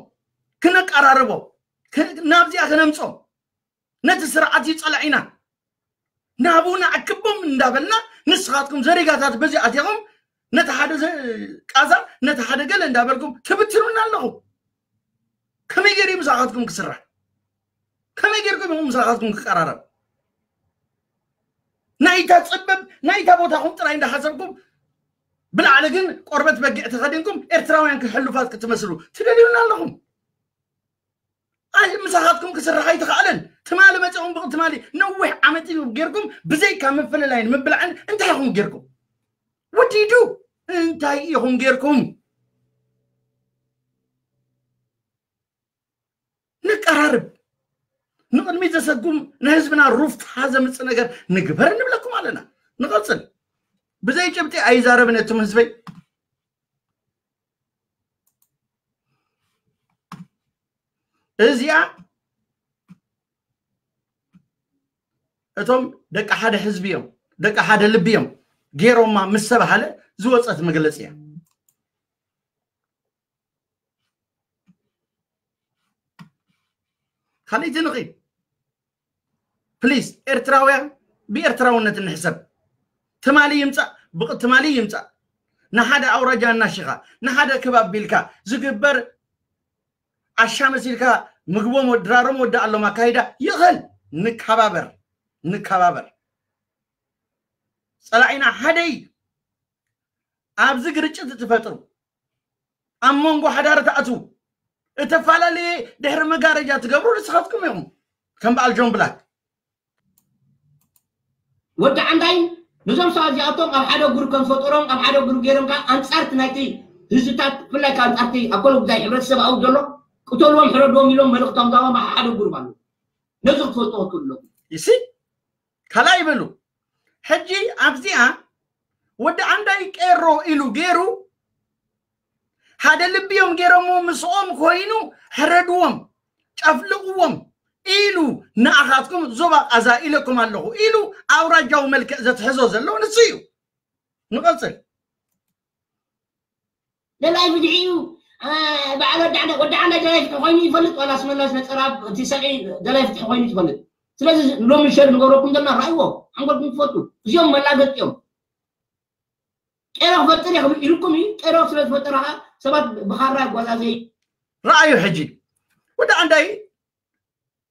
ክነቀራርቦ ናብዚኣ ክነምጾም ነቲ ስርዓት እዩ ጸላዒና ናብኡ ንኣክቦም እንዳበልና ንስኻትኩም ዘሪጋታት በዚ ኣቲኹም ነቲ ሓደ ቃዛ ነቲ ሓደ ገለ እንዳበልኩም ትብትኑና ኣለኹ። ከመይ ገይሩ ምሳኻትኩም ክስራሕ? ከመይ ጌርኩም ኢኹም ምሳኻትኩም ክቀራረብ? ናይታ ጽበብ ናይታ ቦታኹም ጥራይ እንዳሓሰብኩም ብላዕሊ ግን ቆርበት በጊዕ ተኸዲንኩም ኤርትራውያን ክሕሉፋት ክትመስሉ ትደልዩና ኣለኹም። ምሳኻትኩም ክስራሕ ኣይተኻእለን። ትማሊ መፂኹም ብቅ ትማሊ ነዊሕ ዓመት እዩ ጌርኩም ብዘይካ ምፍልላይን ምብላዕን እንታይ ኢኹም ጌርኩም? ወዲዱ እንታይ ኢኹም ጌርኩም? ንቀራርብ። ንቕድሚት ዘሰጉም ንህዝብና ሩፍታ ዘምፅእ ነገር ንግበር ንብለኩም ኣለና። ንቐፅል። ብዘይ ጭብጢ ኣይዛረብን እትም ህዝበይ። እዚኣ እቶም ደቂ ሓደ ህዝቢ እዮም ደቂ ሓደ ልቢ እዮም ገይሮማ ምስ ተባሃለ ዝወፀት መግለፂ እያ። ካልእቲ ንኺ ፕሊስ ኤርትራውያን ብኤርትራውነት እንሕሰብ። ትማሊ ይምፃእ ትማሊ ይምፃእ ንሓደ ኣውራጃ እናሽኻ ንሓደ ክባብ ቢልካ ዝግበር ዓሻ መሲልካ ምግቦም ድራሮም ወዲ ኣሎም ኣካይዳ ይኽእል። ንከባበር ንከባበር። ፀላዒና ሓደ እዩ። ኣብዚ ግርጭት ትፈጥሩ ኣብ መንጎ ሓዳር ትኣትዉ እተፈላለየ ድሕሪ መጋረጃ ትገብሩ ንስኻትኩም ኢኹም። ከም በዓል ጆን ብላክ ወዲ ዓንዳይ ነዞም ሰባት እዚኣቶም ኣብ ሓደ ጉር ከም ፈጠሮም ኣብ ሓደ ጉር ገይሮም ከዓ ኣንፃርቲ ናይቲ ህዝብታት ብፍላይ ከዓ ኣንፃርቲ ኣብ ኮሎ ጉዳይ ሕብረተሰብ ኣው ዘሎ ቅተልዎም ሕረድዎም ኢሎም መልእክቶም ጋቦም ሓደ ጉር ኣሎ። ነዚ ክትፈልጥዎ ትክእሉ ኣለኩም። ይሲ ካልኣይ በሉ ሕጂ ኣብዚኣ ወዲ ዓንዳይ ቄሮ ኢሉ ገይሩ ሓደ ልቢ እዮም ገይሮሞ ምስኦም ኮይኑ ሕረድዎም ጨፍልቕዎም ኢሉ ንኣኻትኩም ዞባ ቃዛ ኢለኩም ኣለኹ ኢሉ ኣውራጃዊ መልክዕ ዘትሕዞ ዘሎ ንሱ እዩ። ንቐፅል። ለላይ ብድዒ እዩ በዓል ወዲ ዓንዳይ ደላይ ፍትሒ ኮይኑ ይፈልጥ ዋላ ኣስመላሽ ነፀራ እቲ ሰብዒ ደላይ ፍትሒ ኮይኑ ይፈልጥ። ስለዚ ሎሚ ሸር ንገብረኩም ዘለና ራእይዎ ሓንጎልኩም ትፈቱ። እዚኦም መላገጥ እዮም። ቄሮ ክፈጥር እየ ክብል ኢልኩም እዩ። ቄሮ ስለ ዝፈጠረ ከዓ ሰባት ብኻራ ይጓዛዘይ። ረኣዩ ሕጂ ወዲ ዓንዳይ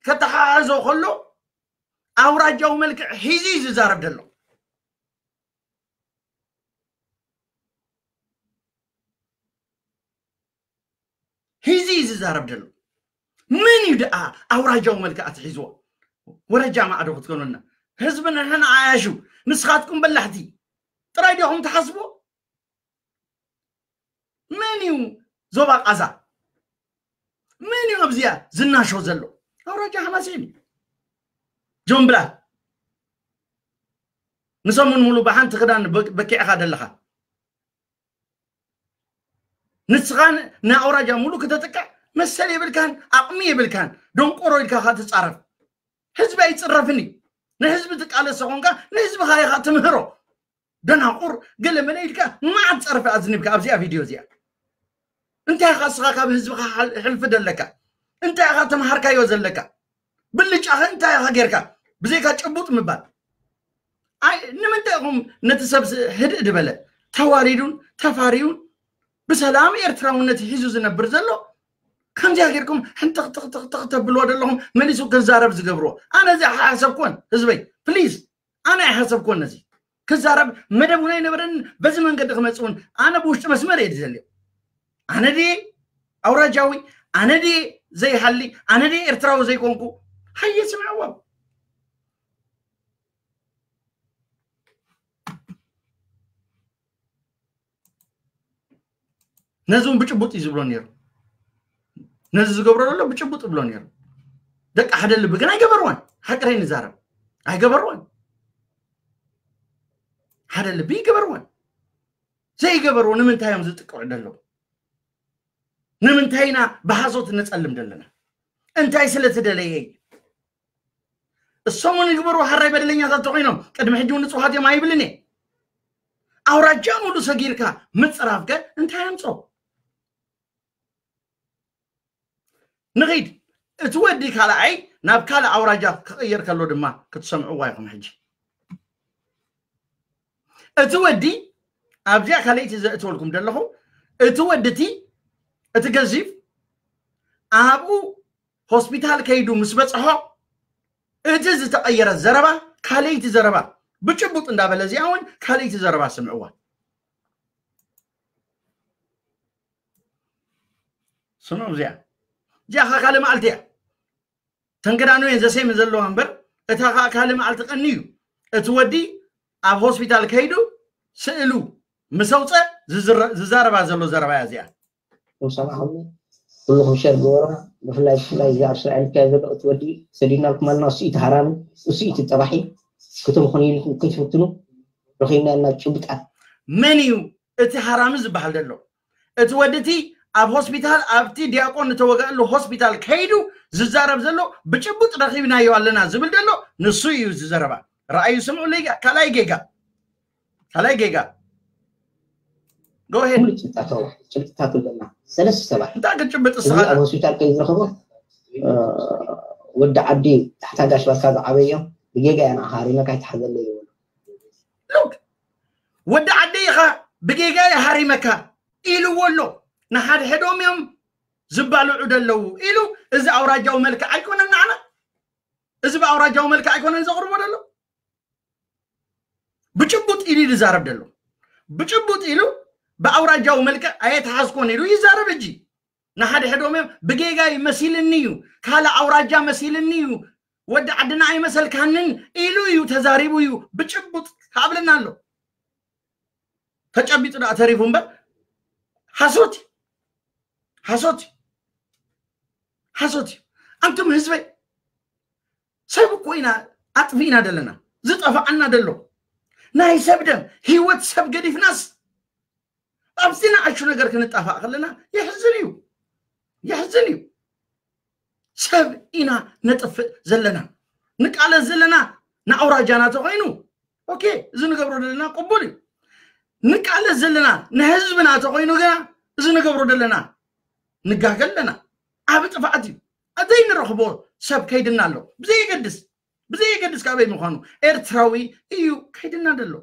ከተሓሓዞ ከሎ ኣውራጃዊ መልክዕ ሒዙ እዩ ዝዛረብ ዘሎ። ሒዙ እዩ ዝዛረብ ዘሎ። ምን እዩ ደኣ ኣውራጃዊ መልክዕ ኣትሒዝዎ? ወረጃ ማዕዶ ክትኮኑልና ህዝቢ ንሕና ዓያሹ ንስኻትኩም በላሕቲ ጥራይ ዲኹም ትሓስቡ? መን እዩ ዞባ ቃዛ? መን እዩ ኣብዚኣ ዝናሾ ዘሎ? ኣውራጃ ሓማሴን እዩ። ጆምብላ ንሰሙን ሙሉ ብሓንቲ ክዳን በኪዕኻ ዘለኻ ንስኻ ንኣውራጃ ሙሉ ክተጥቅዕ መሰል የብልካን፣ ኣቕሚ የብልካን። ደንቆሮ ኢልካ ካ ትጻረፍ። ህዝቢ ኣይጽረፍን እዩ። ንህዝቢ ትቃለስ ኮንካ ንህዝብኻ ኢኻ ትምህሮ። ደናቁር ገለ መለ ኢልካ መዓት ጸርፊ ኣዝኒብካ ኣብዚኣ ቪድዮ እዚኣ። እንታይ ኢኻ እስኻ ካብ ህዝብኻ ሕልፊ ደለካ? እንታይ ኢኻ ተምሃርካዮ ዘለካ? ብልጫኸ እንታይ ኢኻ ጌርካ? ብዘይካ ጭቡጥ ምባል። ኣይ ንምንታይ ኢኹም ነቲ ሰብ ህድእ ዝበለ ተዋሪዱን ተፋሪዩን ብሰላም ኤርትራውነት ሒዙ ዝነብር ዘሎ ከምዚኣ ጌርኩም ሕንጥኽጥኽጥኽ ተብልዎ ዘለኹም መሊሱ ክዛረብ ዝገብርዎ? ኣነ እዚ ሓሰብኩን ህዝበይ ፕሊዝ ኣነ ኣይሓሰብኩን ነዚ ክዛረብ መደብ እውን ኣይነበረን። በዚ መንገዲ ክመፅ እውን ኣነ ብውሽጢ መስመር እየ ዝዘልዮ። ኣነ ድየ ኣውራጃዊ? ኣነ ድየ ዘይሃሊ? ኣነ ድየ ኤርትራዊ ዘይኮንኩ? ሃየ ስምዕዎም። ነዚ እውን ብጭቡጥ እዩ ዝብሎ ነይሩ። ነዚ ዝገብሮ ዘሎ ብጭቡጥ ይብሎ ነይሩ። ደቂ ሓደ ልቢ ግን ኣይገበርዎን። ሓቅረይ ንዛረብ ኣይገበርዎን። ሓደ ልቢ ይገበርዎን። ዘይገበርዎ ንምንታይ እዮም ዝጥቅዑ ዘለዉ? ንምንታይ ኢና ብሓሶት ንጸልም ዘለና? እንታይ ስለ ትደለየ? እሶም እውን ይግበሩ ሓራይ በደለኛታት ተኮይኖም ቅድሚ ሕጂ እውን ንጹሃት እዮም ኣይብልን እየ። ኣውራጃ ሙሉ ሰጊርካ ምጽራፍከ እንታይ ኣምጾ? ንኺድ እቲ ወዲ ካልኣይ ናብ ካልእ ኣውራጃ ክቕየር ከሎ ድማ ክትሰምዕዋ ኢኹም። ሕጂ እቲ ወዲ ኣብዚኣ ካልኣይቲ ዘእትወልኩም ዘለኹ እቲ ወዲ እቲ እቲ ገዚፍ ኣብኡ ሆስፒታል ከይዱ ምስ በፅሖ እቲ ዝተቐየረ ዘረባ ካልኣይቲ ዘረባ ብጭቡጥ እንዳበለ እዚኣ እውን ካልኣይቲ ዘረባ ስምዕዋ። ስምዑ እዚኣ እዚኣ ኸዓ ካልእ መዓልቲ እያ። ተንገዳኑ እየን ዘሴም ዘለዋ እምበር እታ ኸዓ ካልእ መዓልቲ ቀኒ እዩ። እቲ ወዲ ኣብ ሆስፒታል ከይዱ ስእሉ ምስ ኣውፀ ዝዛረባ ዘሎ ዘረባ እያ እዚኣ። ሰማዕኹም ኩልኹም ሸር ግበሩና። ብፍላይ ብፍላይ እዚ ኣብ እስራኤል ዝካየድ ዘሎ እቲ ወዲ ሰዲድናልኩም ኣለና። እሱ እቲ ሃራሚ እሱ እቲ ጠባሒ ክትምኹኑ ኢልኩም ክትፍትኑ ረኺብና ኢና ጭብጣት። መን እዩ እቲ ሃራሚ ዝበሃል ዘሎ? እቲ ወዲ እቲ ኣብ ሆስፒታል ኣብቲ ዲያቆን ዝተወገአሉ ሆስፒታል ከይዱ ዝዛረብ ዘሎ ብጭቡጥ ረኺብናዮ ኣለና ዝብል ዘሎ ንሱ እዩ ዝዘረባ። ረኣዩ ስምዑ ለይጋ ካልኣይ ጌጋ ካልኣይ ጌጋ ጎሄድ ሙሉ ጭብጣቶ ጭብጥታቱ ኣለና ሰለስተ ሰባት እንታይ ክትጭብጥ እዚ እስኻ ኣብ ሆስፒታል ከይዝረኸቦ ወዲ ዓዲ ታሕታ ጋሽ ባካ ዝዓበዮም ብጌጋ እያ ንዓኻ ሃሪመካ ኣይትሓዘለይ ይበሉ ሉክ ወዲ ዓዲ ኢኻ ብጌጋ እየ ሃሪመካ ኢልዎ ኣሎ። ንሓድሕዶም እዮም ዝባልዑ ደለዉ ኢሉ እዚ ኣውራጃዊ መልክዕ ኣይኮነን ንዓና እዚ ብኣውራጃዊ መልክዕ ኣይኮነን ዘቕርቦ ደሎ ብጭቡጥ ኢሉ ይዛረብ ደሎ ብጭቡጥ ኢሉ ብኣውራጃዊ መልክዕ ኣየተሓዝኮን ኢሉ ይዛረብ እጂ ንሓድሕዶም እዮም ብጌጋይ መሲልኒ እዩ ካልእ ኣውራጃ መሲልኒ እዩ ወዲ ዓድና ኣይመሰልካንን ኢሉ እዩ ተዛሪቡ እዩ ብጭቡጥ ካብለና ኣሎ ተጨቢጡ ደኣ ተሪፉ እምበር ሓሶት እዩ ሓሶት እዩ ሓሶት እዩ ኣንቱም ህዝበይ ሰብ እኮ ኢና ኣጥፊእና ደለና ዝጠፋዓና ደሎ ናይ ሰብ ደም ህይወት ሰብ ገዲፍናስ ኣብዚ ንኣሹ ነገር ክንጣፋእ ከለና የሕዝን እዩ የሕዝን እዩ ሰብ ኢና ነጥፍእ ዘለና ንቃለስ ዘለና ንኣውራጃና ተኮይኑ ኦኬ እዚ ንገብሮ ዘለና ቅቡል እዩ ንቃለስ ዘለና ንህዝብና ተኮይኑ ግና እዚ ንገብሮ ዘለና ንጋገ ኣለና። ዓብ ጥፍኣት እዩ። ኣዘይ ንረኽቦ ሰብ ከይድና ኣሎ። ብዘየገድስ ብዘየገድስ ካበይ ምዃኑ ኤርትራዊ እዩ ከይድና ደሎ።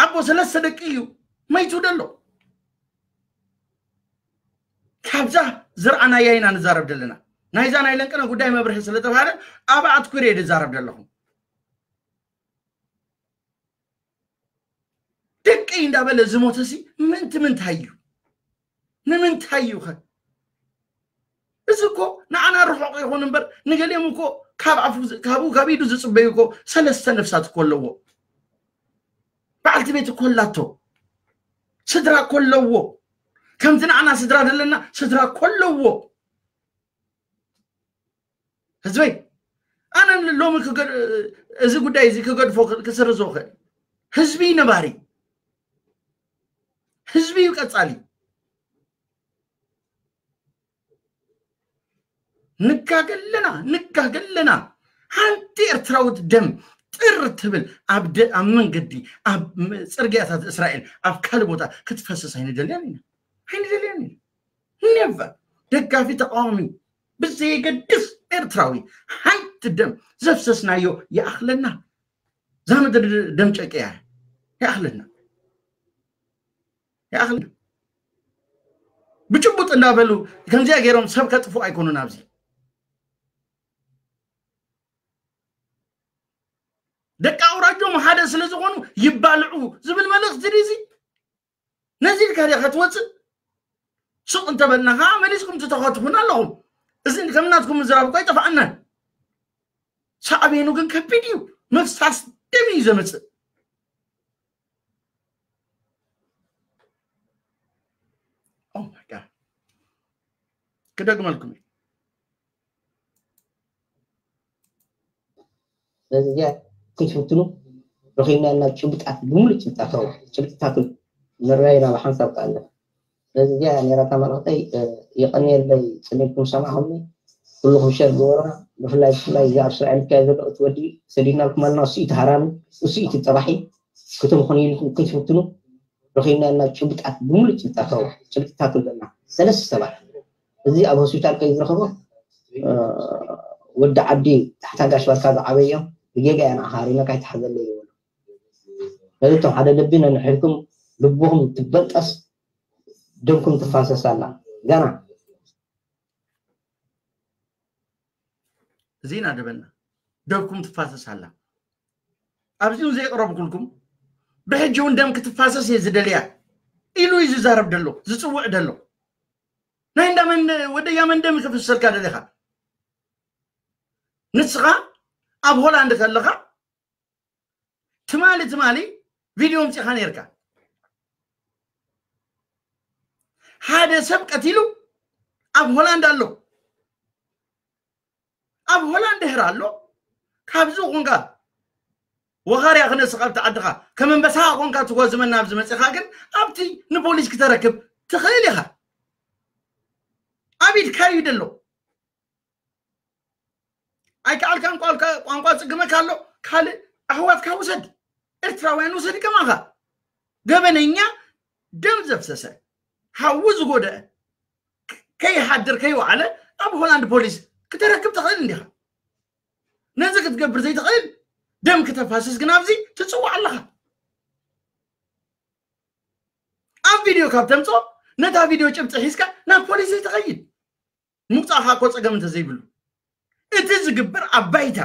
ኣቦ ሰለስተ ደቂ እዩ መይቱ ደሎ። ካብዛ ዝረኣናያ ኢና ንዛረብ ዘለና። ናይዛ ናይ ለንቅነ ጉዳይ መብርሒ ስለ ተባሃለ ኣብ ኣትኩር እየ ዝዛረብ ዘለኹ። ደቂ እንዳበለ ዝሞተሲ ምእንቲ ምንታይ እዩ? ንምንታይ እዩ ኸ? እዚ እኮ ንዓና ርሑቕ ይኹን እምበር ንገሊኦም እኮ ካብ ኣፉ ዝ- ካብኡ ካብ ኢዱ ዝፅበዩ እኮ ሰለስተ ነፍሳት እኮ ኣለዎ። በዓልቲ ቤት እኮ ኣላቶ። ስድራ እኮ ኣለዎ። ከምዚ ንዓና ስድራ ዘለና ስድራ እኮ ኣለዎ። ህዝበይ ኣነ ሎሚ ክገድ- እዚ ጉዳይ እዚ ክገድፎ ክስርዞ ክእል። ህዝቢ ነባሪ፣ ህዝቢ እዩ ቀፃሊ። ንጋገ ኣለና ንጋገ ኣለና። ሓንቲ ኤርትራዊት ደም ጥር ትብል ኣብ ደ- ኣብ መንገዲ ኣብ ም- ፅርግያታት እስራኤል ኣብ ካልእ ቦታ ክትፈስስ ኣይንደልያን ኢና። ኣይንደልያን ኢና። ኔቨር። ደጋፊ ተቃዋሚ ብዘየገድስ ኤርትራዊ ሓንቲ ደም ዘፍሰስናዮ ይኣኽለና። እዛ ምድሪ ደም ጨቅያ ይኣኽለና። ይኣኽለና። ብጭቡጥ እንዳበሉ ከምዚኣ ገይሮም ሰብ ከጥፉ ኣይኮኑን። ኣብዚ ደቂ ኣውራጆም ሓደ ስለ ዝኾኑ ይባልዑ ዝብል መልእኽቲ ድዚ ነዚ ኢልካ ዲኻ ትወፅእ? ስቕ እንተበልና ከዓ መሊስኩም ትተኸትፉና ኣለኹም። እዚ ከም ናትኩም ምዝራብ እኮ ኣይጠፍኣናን። ሳዕቤኑ ግን ከቢድ እዩ። ምፍሳስ ደም እዩ ዘምፅእ። Oh my God። ክደግመልኩም እዩ። ስለዚ እዚኣ ክትፍትኑ ረኺብና ናብ ጭብጣት ብምሉእ ጭብጣት ጭብጥታቱ ንረኣይ ናብ ሓንሳብ ከኣለ ስለዚ እዚኣ ነራታ መልእኽተይ። የቐንየለይ ፅኒኩም ሰማዕኹምኒ። ኩልኹም ሸር ግበሩና። ብፍላይ ብፍላይ እዚ ኣብ እስራኤል ዝካየድ ዘሎ እቲ ወዲ ሰዲድናልኩም ኣለና። እሱ እቲ ሃራሚ፣ እሱ እቲ ጠባሒ ክትምኹን ኢልኩም ክትፍትኑ ረኺብና ናብ ጭብጣት ብምሉእ ጭብጣት ጭብጥታቱ ኣለና። ሰለስተ ሰባት እዚ ኣብ ሆስፒታል ከይ ዝረኸቦ ወዲ ዓዲ ታሕታ ጋሽ ባርካ ዝዓበዮም ብጌጋ እያ ንዓኻ ሃሪመካ ኣይትሓዘለይ ይበሎ። ነዚ እቶም ሓደ ልቢ ነንሕድኩም ልብኹም ትበጠስ ደምኩም ትፋሰስ ኣላ። ገና እዚ ኢና ደበና ደምኩም ትፋሰስ ኣላ። ኣብዚ እውን ዘየቕረብኩልኩም ብሕጂ እውን ደም ክትፋሰስ እየ ዝደልያ ኢሉ እዩ ዝዛረብ ደሎ ዝፅውዕ ደሎ። ናይ እንዳ መን ወደያ መን ደም ክፍሰልካ ደሊኻ? ንስኻ ኣብ ሆላንድ ከለኻ ትማሊ ትማሊ ቪድዮ ምፂኻ ነርካ። ሓደ ሰብ ቀቲሉ ኣብ ሆላንድ ኣሎ። ኣብ ሆላንድ ድሕር ኣሎ። ካብዚ ኮንካ ወኻርያ ክነስኻ ኣብቲ ዓድኻ ከም ኣንበሳ ኮንካ ትጓዝመና ኣብዚ መፂኻ ግን ኣብቲ ንፖሊስ ክተረክብ ትኽእል ኢኻ። ኣብ ኢድካ እዩ ደሎ። ኣይከኣልካን ቋንቋ ቋንቋ ጽግመካ ኣሎ። ካልእ ኣሕዋትካ ውሰድ፣ ኤርትራውያን ውሰድ ከማኻ። ገበነኛ ደም ዘፍሰሰ ሓዊ ዝጎደአ ከይሓድር ከይወዓለ ኣብ ሆላንድ ፖሊስ ክተረክብ ትኽእል እንዲኻ። ነዚ ክትገብር ዘይትኽእል ደም ክተፋስስ ግን ኣብዚ ትጽዋዕ ኣለኻ። ኣብ ቪድዮ ካብ ተምጾ ነታ ቪድዮ ጭብጢ ሒዝካ ናብ ፖሊስ ዘይትኸይድ። ምውፃእኻ እኮ ፀገም እንተዘይብሉ እቲ ዝግበር ኣብ ባይታ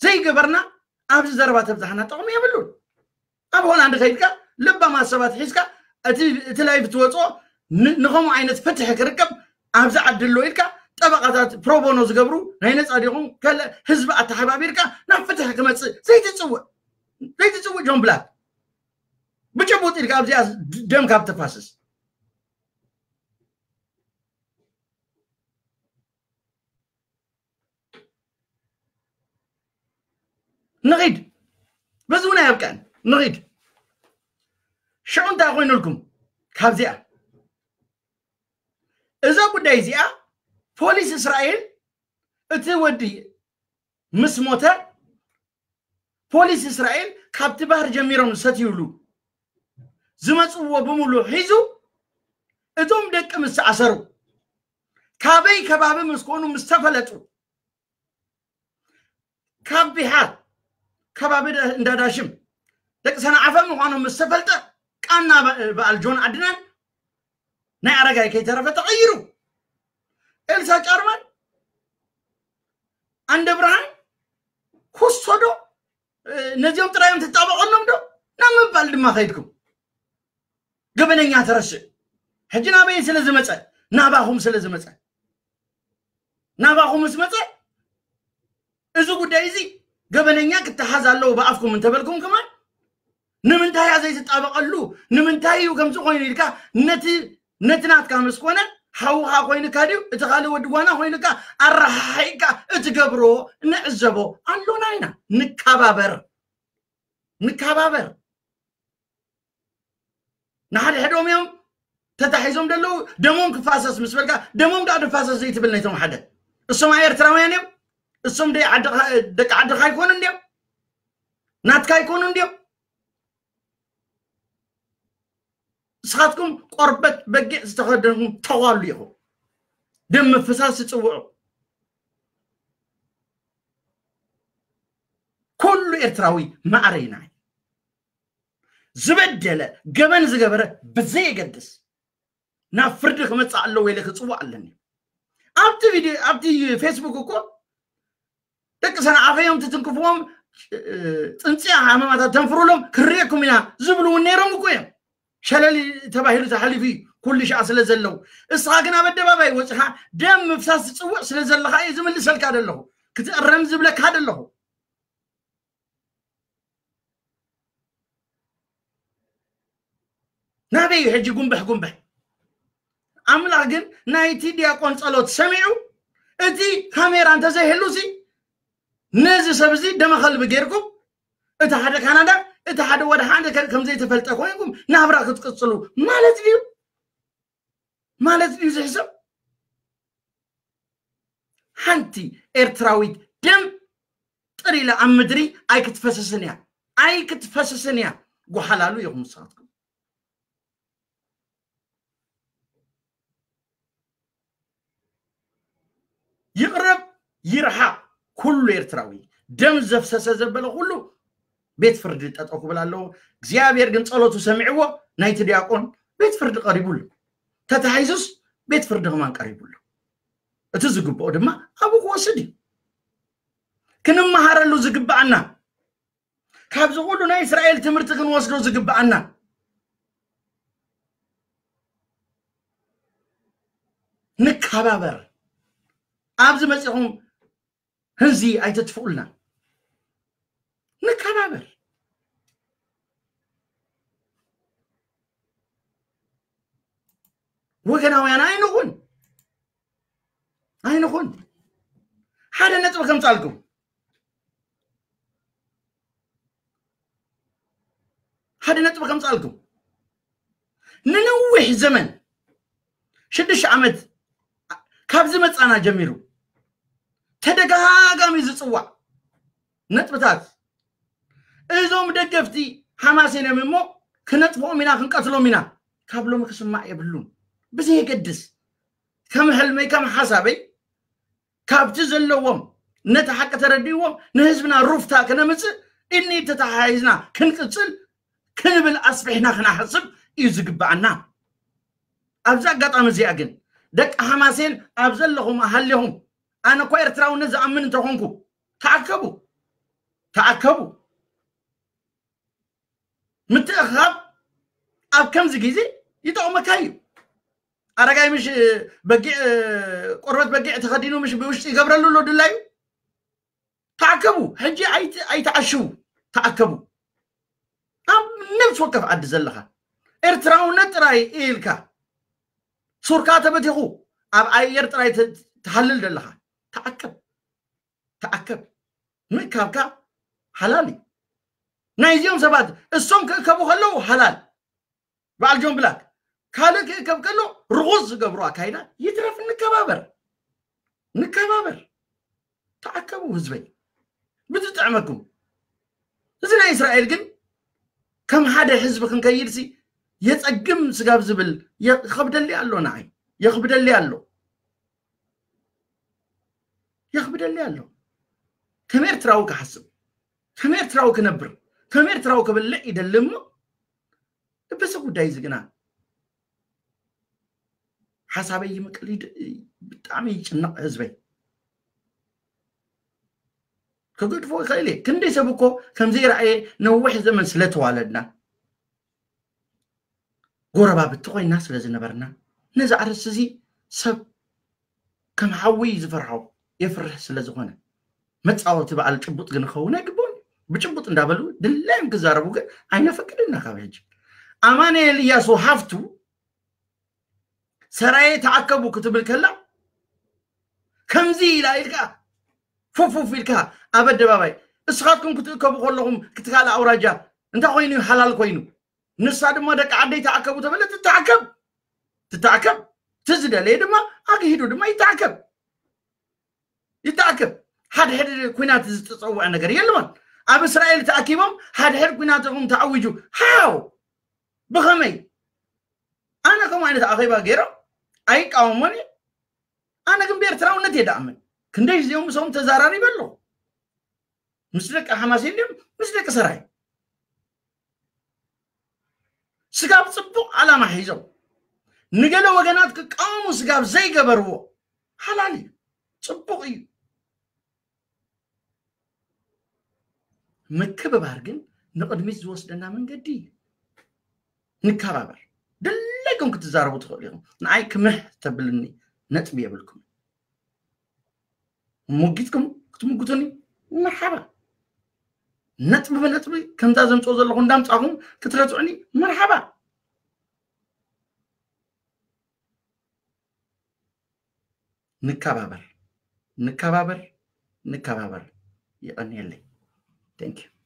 ዘይገበርና ኣብዚ ዘረባ ተብዛሕና ጥቕሚ የብሉን። ኣብ ሆላንድ ከይድካ ለባማት ሰባት ሒዝካ እቲ ላይቭ ትወፅኦ ንከምኡ ዓይነት ፍትሒ ክርከብ ኣብዚ ዓዲ ኣሎ ኢልካ ጠበቃታት ፕሮቦኖ ዝገብሩ ናይ ነፃ ዲኹም ከለ ህዝቢ ኣተሓባቢርካ ናብ ፍትሒ ክመፅእ ዘይትፅውዕ ዘይትፅውዕ ጆን ብላክ ብጭቡጥ ኢልካ ኣብዚኣ ደም ካብ ተፋስስ ንኺድ በዚ እውን ኣየብቅዕን ንኺድ ሽዑ እንታይ ኮይኑልኩም ካብዚኣ እዛ ጉዳይ እዚኣ ፖሊስ እስራኤል እቲ ወዲ ምስ ሞተ ፖሊስ እስራኤል ካብቲ ባህር ጀሚሮም ዝሰትዩሉ ዝመፅዎ ብምሉእ ሒዙ እቶም ደቂ ምስ ተኣሰሩ ካበይ ከባቢ ምስ ኮኑ ምስ ተፈለጡ ካብ ቢሓር ከባቢ እንዳዳሽም ደቂ ሰንዓፈ ምዃኖም ምስ ተፈልጠ ቃና በዓል ጆን ዓድናን ናይ ኣረጋይ ከይተረፈ ተቐይሩ። ኤልሳ ጫርማን ኣንደ ብርሃን ኩሶ ዶ ነዚኦም ጥራዮም ትጣበቐሎም ዶ ናብ ምባል ድማ ከይድኩም ገበነኛ ተረስዕ። ሕጂ ናበይ ስለ ዝመፀ ናባኹም ስለ ዝመፀ ናባኹም ምስ መፀ እዚ ጉዳይ እዚ ገበነኛ ክተሓዝ ኣለዎ ብኣፍኩም እንተበልኩም ከማን ንምንታይ እያ ዘይትጣበቐሉ? ንምንታይ እዩ ከምዚ ኮይኑ ኢልካ ነቲ ነቲ ናትካ ምስ ኮነ ሓውኻ ኮይንካ ድዩ እቲ ካልእ ወዲ ጓና ኮይንካ ኣረሓሒቕካ እትገብሮ ንዕዘቦ ኣሎና ኢና። ንከባበር ንከባበር። ንሓድሕዶም እዮም ተታሒዞም ዘለዉ። ደሞም ክፋሰስ ምስ በልካ ደሞም ዳ ድፋሰስ ዘይትብል ነይቶም ሓደ እሶም ኣይ ኤርትራውያን እዮም። እሶም ደይ ዓድኻ- ደቂ ዓድኻ ኣይኮኑ እንዲዮም ናትካ ኣይኮኑ እንዲዮም። ንስኻትኩም ቆርበት በጊዕ ዝተኸደንኩም ተዋሉ ኢኹም። ደም ምፍሳስ ትፅውዑ። ኩሉ ኤርትራዊ ማዕረይና እዩ። ዝበደለ ገበን ዝገበረ ብዘየገድስ ናብ ፍርዲ ክመፅእ ኣለዎ ኢለ ክፅውዕ ኣለኒ። ኣብቲ ቪድዮ ኣብቲ ፌስቡክ እኮ ደቂ ሰንዓፈ እዮም ትትንክፍዎም፣ ፅንፅያ ሃመማታት ተንፍሩሎም ክርእየኩም ኢና ዝብሉ እውን ነይሮም እኮ እዮም። ሸለል ተባሂሉ ተሓሊፉ እዩ ኩሉ ሻዕ ስለ ዘለዉ። እስኻ ግን ኣብ ኣደባባይ ወፅኻ ደም ምፍሳስ ትፅውዕ ስለ ዘለኻ እዩ ዝምልሰልካ ዘለኹ ክትእረም ዝብለካ ዘለኹ። ናበይ እዩ ሕጂ ጉንብሕ ጉንብሕ? ኣምላኽ ግን ናይቲ ዲያቆን ጸሎት ሰሚዑ እቲ ካሜራ እንተዘይህሉሲ ነዚ ሰብ እዚ ደመኸልቢ ጌርኩም እቲ ሓደ ካናዳ እቲ ሓደ ወደ ሓደ ከም ዘይተፈልጠ ኮይንኩም ናብራ ክትቅጽሉ ማለት ድዩ? ማለት ድዩ ዝሕሰብ? ሓንቲ ኤርትራዊት ደም ጥር ኢላ ኣብ ምድሪ ኣይክትፈስስን እያ ኣይክትፈስስን እያ። ጓሓላሉ ኢኹም ንስኻትኩም። ይቕረብ ይርሓቕ ኩሉ ኤርትራዊ ደም ዘፍሰሰ ዘበለ ኩሉ ቤት ፍርዲ ጠጠው ክብል ኣለዎ። እግዚኣብሔር ግን ጸሎቱ ሰሚዕዎ ናይቲ ዲያቆን ቤት ፍርዲ ቀሪቡሉ። ተታሒዙስ ቤት ፍርዲ ከማን ቀሪቡሉ። እቲ ዝግብኦ ድማ ኣብኡ ክወስድ እዩ። ክንመሃረሉ ዝግብኣና ካብዚ ኩሉ ናይ እስራኤል ትምህርቲ ክንወስዶ ዝግብኣና ንከባበር። ኣብዚ መፂኹም ህዚ ኣይተጥፍኡልና። ንከባበር። ወገናውያን ኣይንኹን ኣይንኹን። ሓደ ነጥቢ ከምፃልኩም ሓደ ነጥቢ ከምፃልኩም ንነዊሕ ዘመን ሽዱሽተ ዓመት ካብ ዝመፃና ጀሚሩ ተደጋጋሚ ዝፅዋዕ ነጥብታት እዞም ደገፍቲ ሓማሴን እዮም እሞ ክነጥፍኦም ኢና ክንቀትሎም ኢና ካብ ሎሚ ክስማዕ የብሉን። ብዘየገድስ ከም ሕልመይ ከም ሓሳበይ ካብቲ ዘለዎም ነቲ ሓቂ ተረዲእዎም ንህዝብና ሩፍታ ክነምፅእ እኒ ተተሓሒዝና ክንቅፅል ክንብል ኣስፊሕና ክነሓስብ እዩ ዝግብኣና። ኣብዚ ኣጋጣሚ እዚኣ ግን ደቂ ሓማሴን ኣብ ዘለኹም ሃሊኹም ኣነ እኳ ኤርትራውነት ዝኣምን እንተኾንኩ ተኣከቡ ተኣከቡ። ምትእኽኻብ ኣብ ከምዚ ግዜ ይጠቕመካ እዩ። ኣረጋይ ምሽ በጊዕ ቆርበት በጊዕ ተኸዲኑ ምሽ ብውሽጢ ይገብረሉ ኣሎ ድላዩ። ተኣከቡ ሕጂ ኣይትዓሽዉ። ተኣከቡ ኣብ ነብሲ ወከፍ ዓዲ ዘለኻ ኤርትራውነት ጥራይ ኢልካ ሱርካ ተበቲኹ ኣብ ኣየር ጥራይ ትሃልል ዘለኻ ተኣከብ። ተኣከብ። ምእካብካ ሓላል እዩ። ናይዚኦም ሰባት እሶም ክእከቡ ከለዉ ሓላል በዓል ጆን ብላክ ካልእ ክእከብ ከሎ ርኹስ ዝገብሩ ኣካይዳ ይትረፍ። ንከባበር ንከባበር። ተኣከቡ ህዝበይ ብዝጥዕመኩም። እዚ ናይ እስራኤል ግን ከም ሓደ ህዝቢ ክንከይድሲ የጸግም ስጋብ ዝብል ይኸብደሊ ኣሎ፣ ንዓይ ይኸብደሊ ኣሎ፣ ይኸብደሊ ኣሎ። ከም ኤርትራዊ ክሓስብ፣ ከም ኤርትራዊ ክነብር፣ ከም ኤርትራዊ ክበልዕ ይደሊ እሞ፣ በዚ ጉዳይ እዚ ግና ሓሳበይ ይምቅል፣ ይድ- ብጣዕሚ ይጭነቕ ህዝበይ። ክገድፎ ይኽእል እየ። ክንደይ ሰብ እኮ ከምዘይረኣየ ነዊሕ ዘመን ስለተዋለድና፣ ጎረባብቲ ኮይና ስለ ዝነበርና፣ ነዚ ኣርእስቲ እዚ ሰብ ከም ሓዊ ዝፈርሖ፣ የፍርህ ስለ ዝኾነ፣ መጻወቲ በዓል ጭቡጥ ግን ክኸውን ኣይግብኦን። ብጭቡጥ እንዳበሉ ድላዮም ክዛረቡ ግን ኣይነፈቅድና። ካብ ሕጂ ኣማኑኤል እያሱ ሃፍቱ ሰራየ ተኣከቡ ክትብል ከላ፣ ከምዚ ኢላ ኢልካ ፉፍ ፉፍ ኢልካ ኣብ ኣደባባይ፣ እስኻትኩም ክትእከቡ ከለኹም ክትካል ኣውራጃ እንታይ ኮይኑ እዩ ሓላል ኮይኑ? ንሳ ድማ ደቂ ዓደይ ተኣከቡ ተበለ፣ ትተኣከብ፣ ትተኣከብ። እቲ ዝደለየ ድማ ኣግሂዱ ድማ ይተኣከብ፣ ይተኣከብ። ሓድሕድ ኩናት ዝተጸውዐ ነገር የለዎን። ኣብ እስራኤል ተኣኪቦም ሓድሕድ ኩናት ኢኹም ተኣዊጁ። ሃው፣ ብኸመይ? ኣነ ከምኡ ዓይነት ኣኼባ ገይሮም ኣይቃወሞን እየ። ኣነ ግን ብኤርትራውነት እየ ደኣምን። ክንደይ እዚኦም ምስኦም ተዛራሪበ ኣለኹ። ምስ ደቂ ሓማሴን ድዮም ምስ ደቂ ሰራይ? ስጋብ ጽቡቕ ዓላማ ሒዞም ንገለ ወገናት ክቃወሙ ስጋብ ዘይገበርዎ ሓላል እዩ፣ ጽቡቕ እዩ። ምክብባር ግን ንቕድሚት ዝወስደና መንገዲ እዩ። ንከባበር። ድለይኩም ክትዛረቡ ትኽእሉ ኢኹም። ንዓይ ክምህ ተብልኒ ነጥቢ የብልኩም። ሙጊትኩም ክትምጉቱኒ መርሓባ። ነጥቢ ብነጥቢ ከምዛ ዘምፅኦ ዘለኹ እንዳምፃኹም ክትረትዑኒ መርሓባ። ንከባበር፣ ንከባበር፣ ንከባበር። የቐንየለይ። Thank you።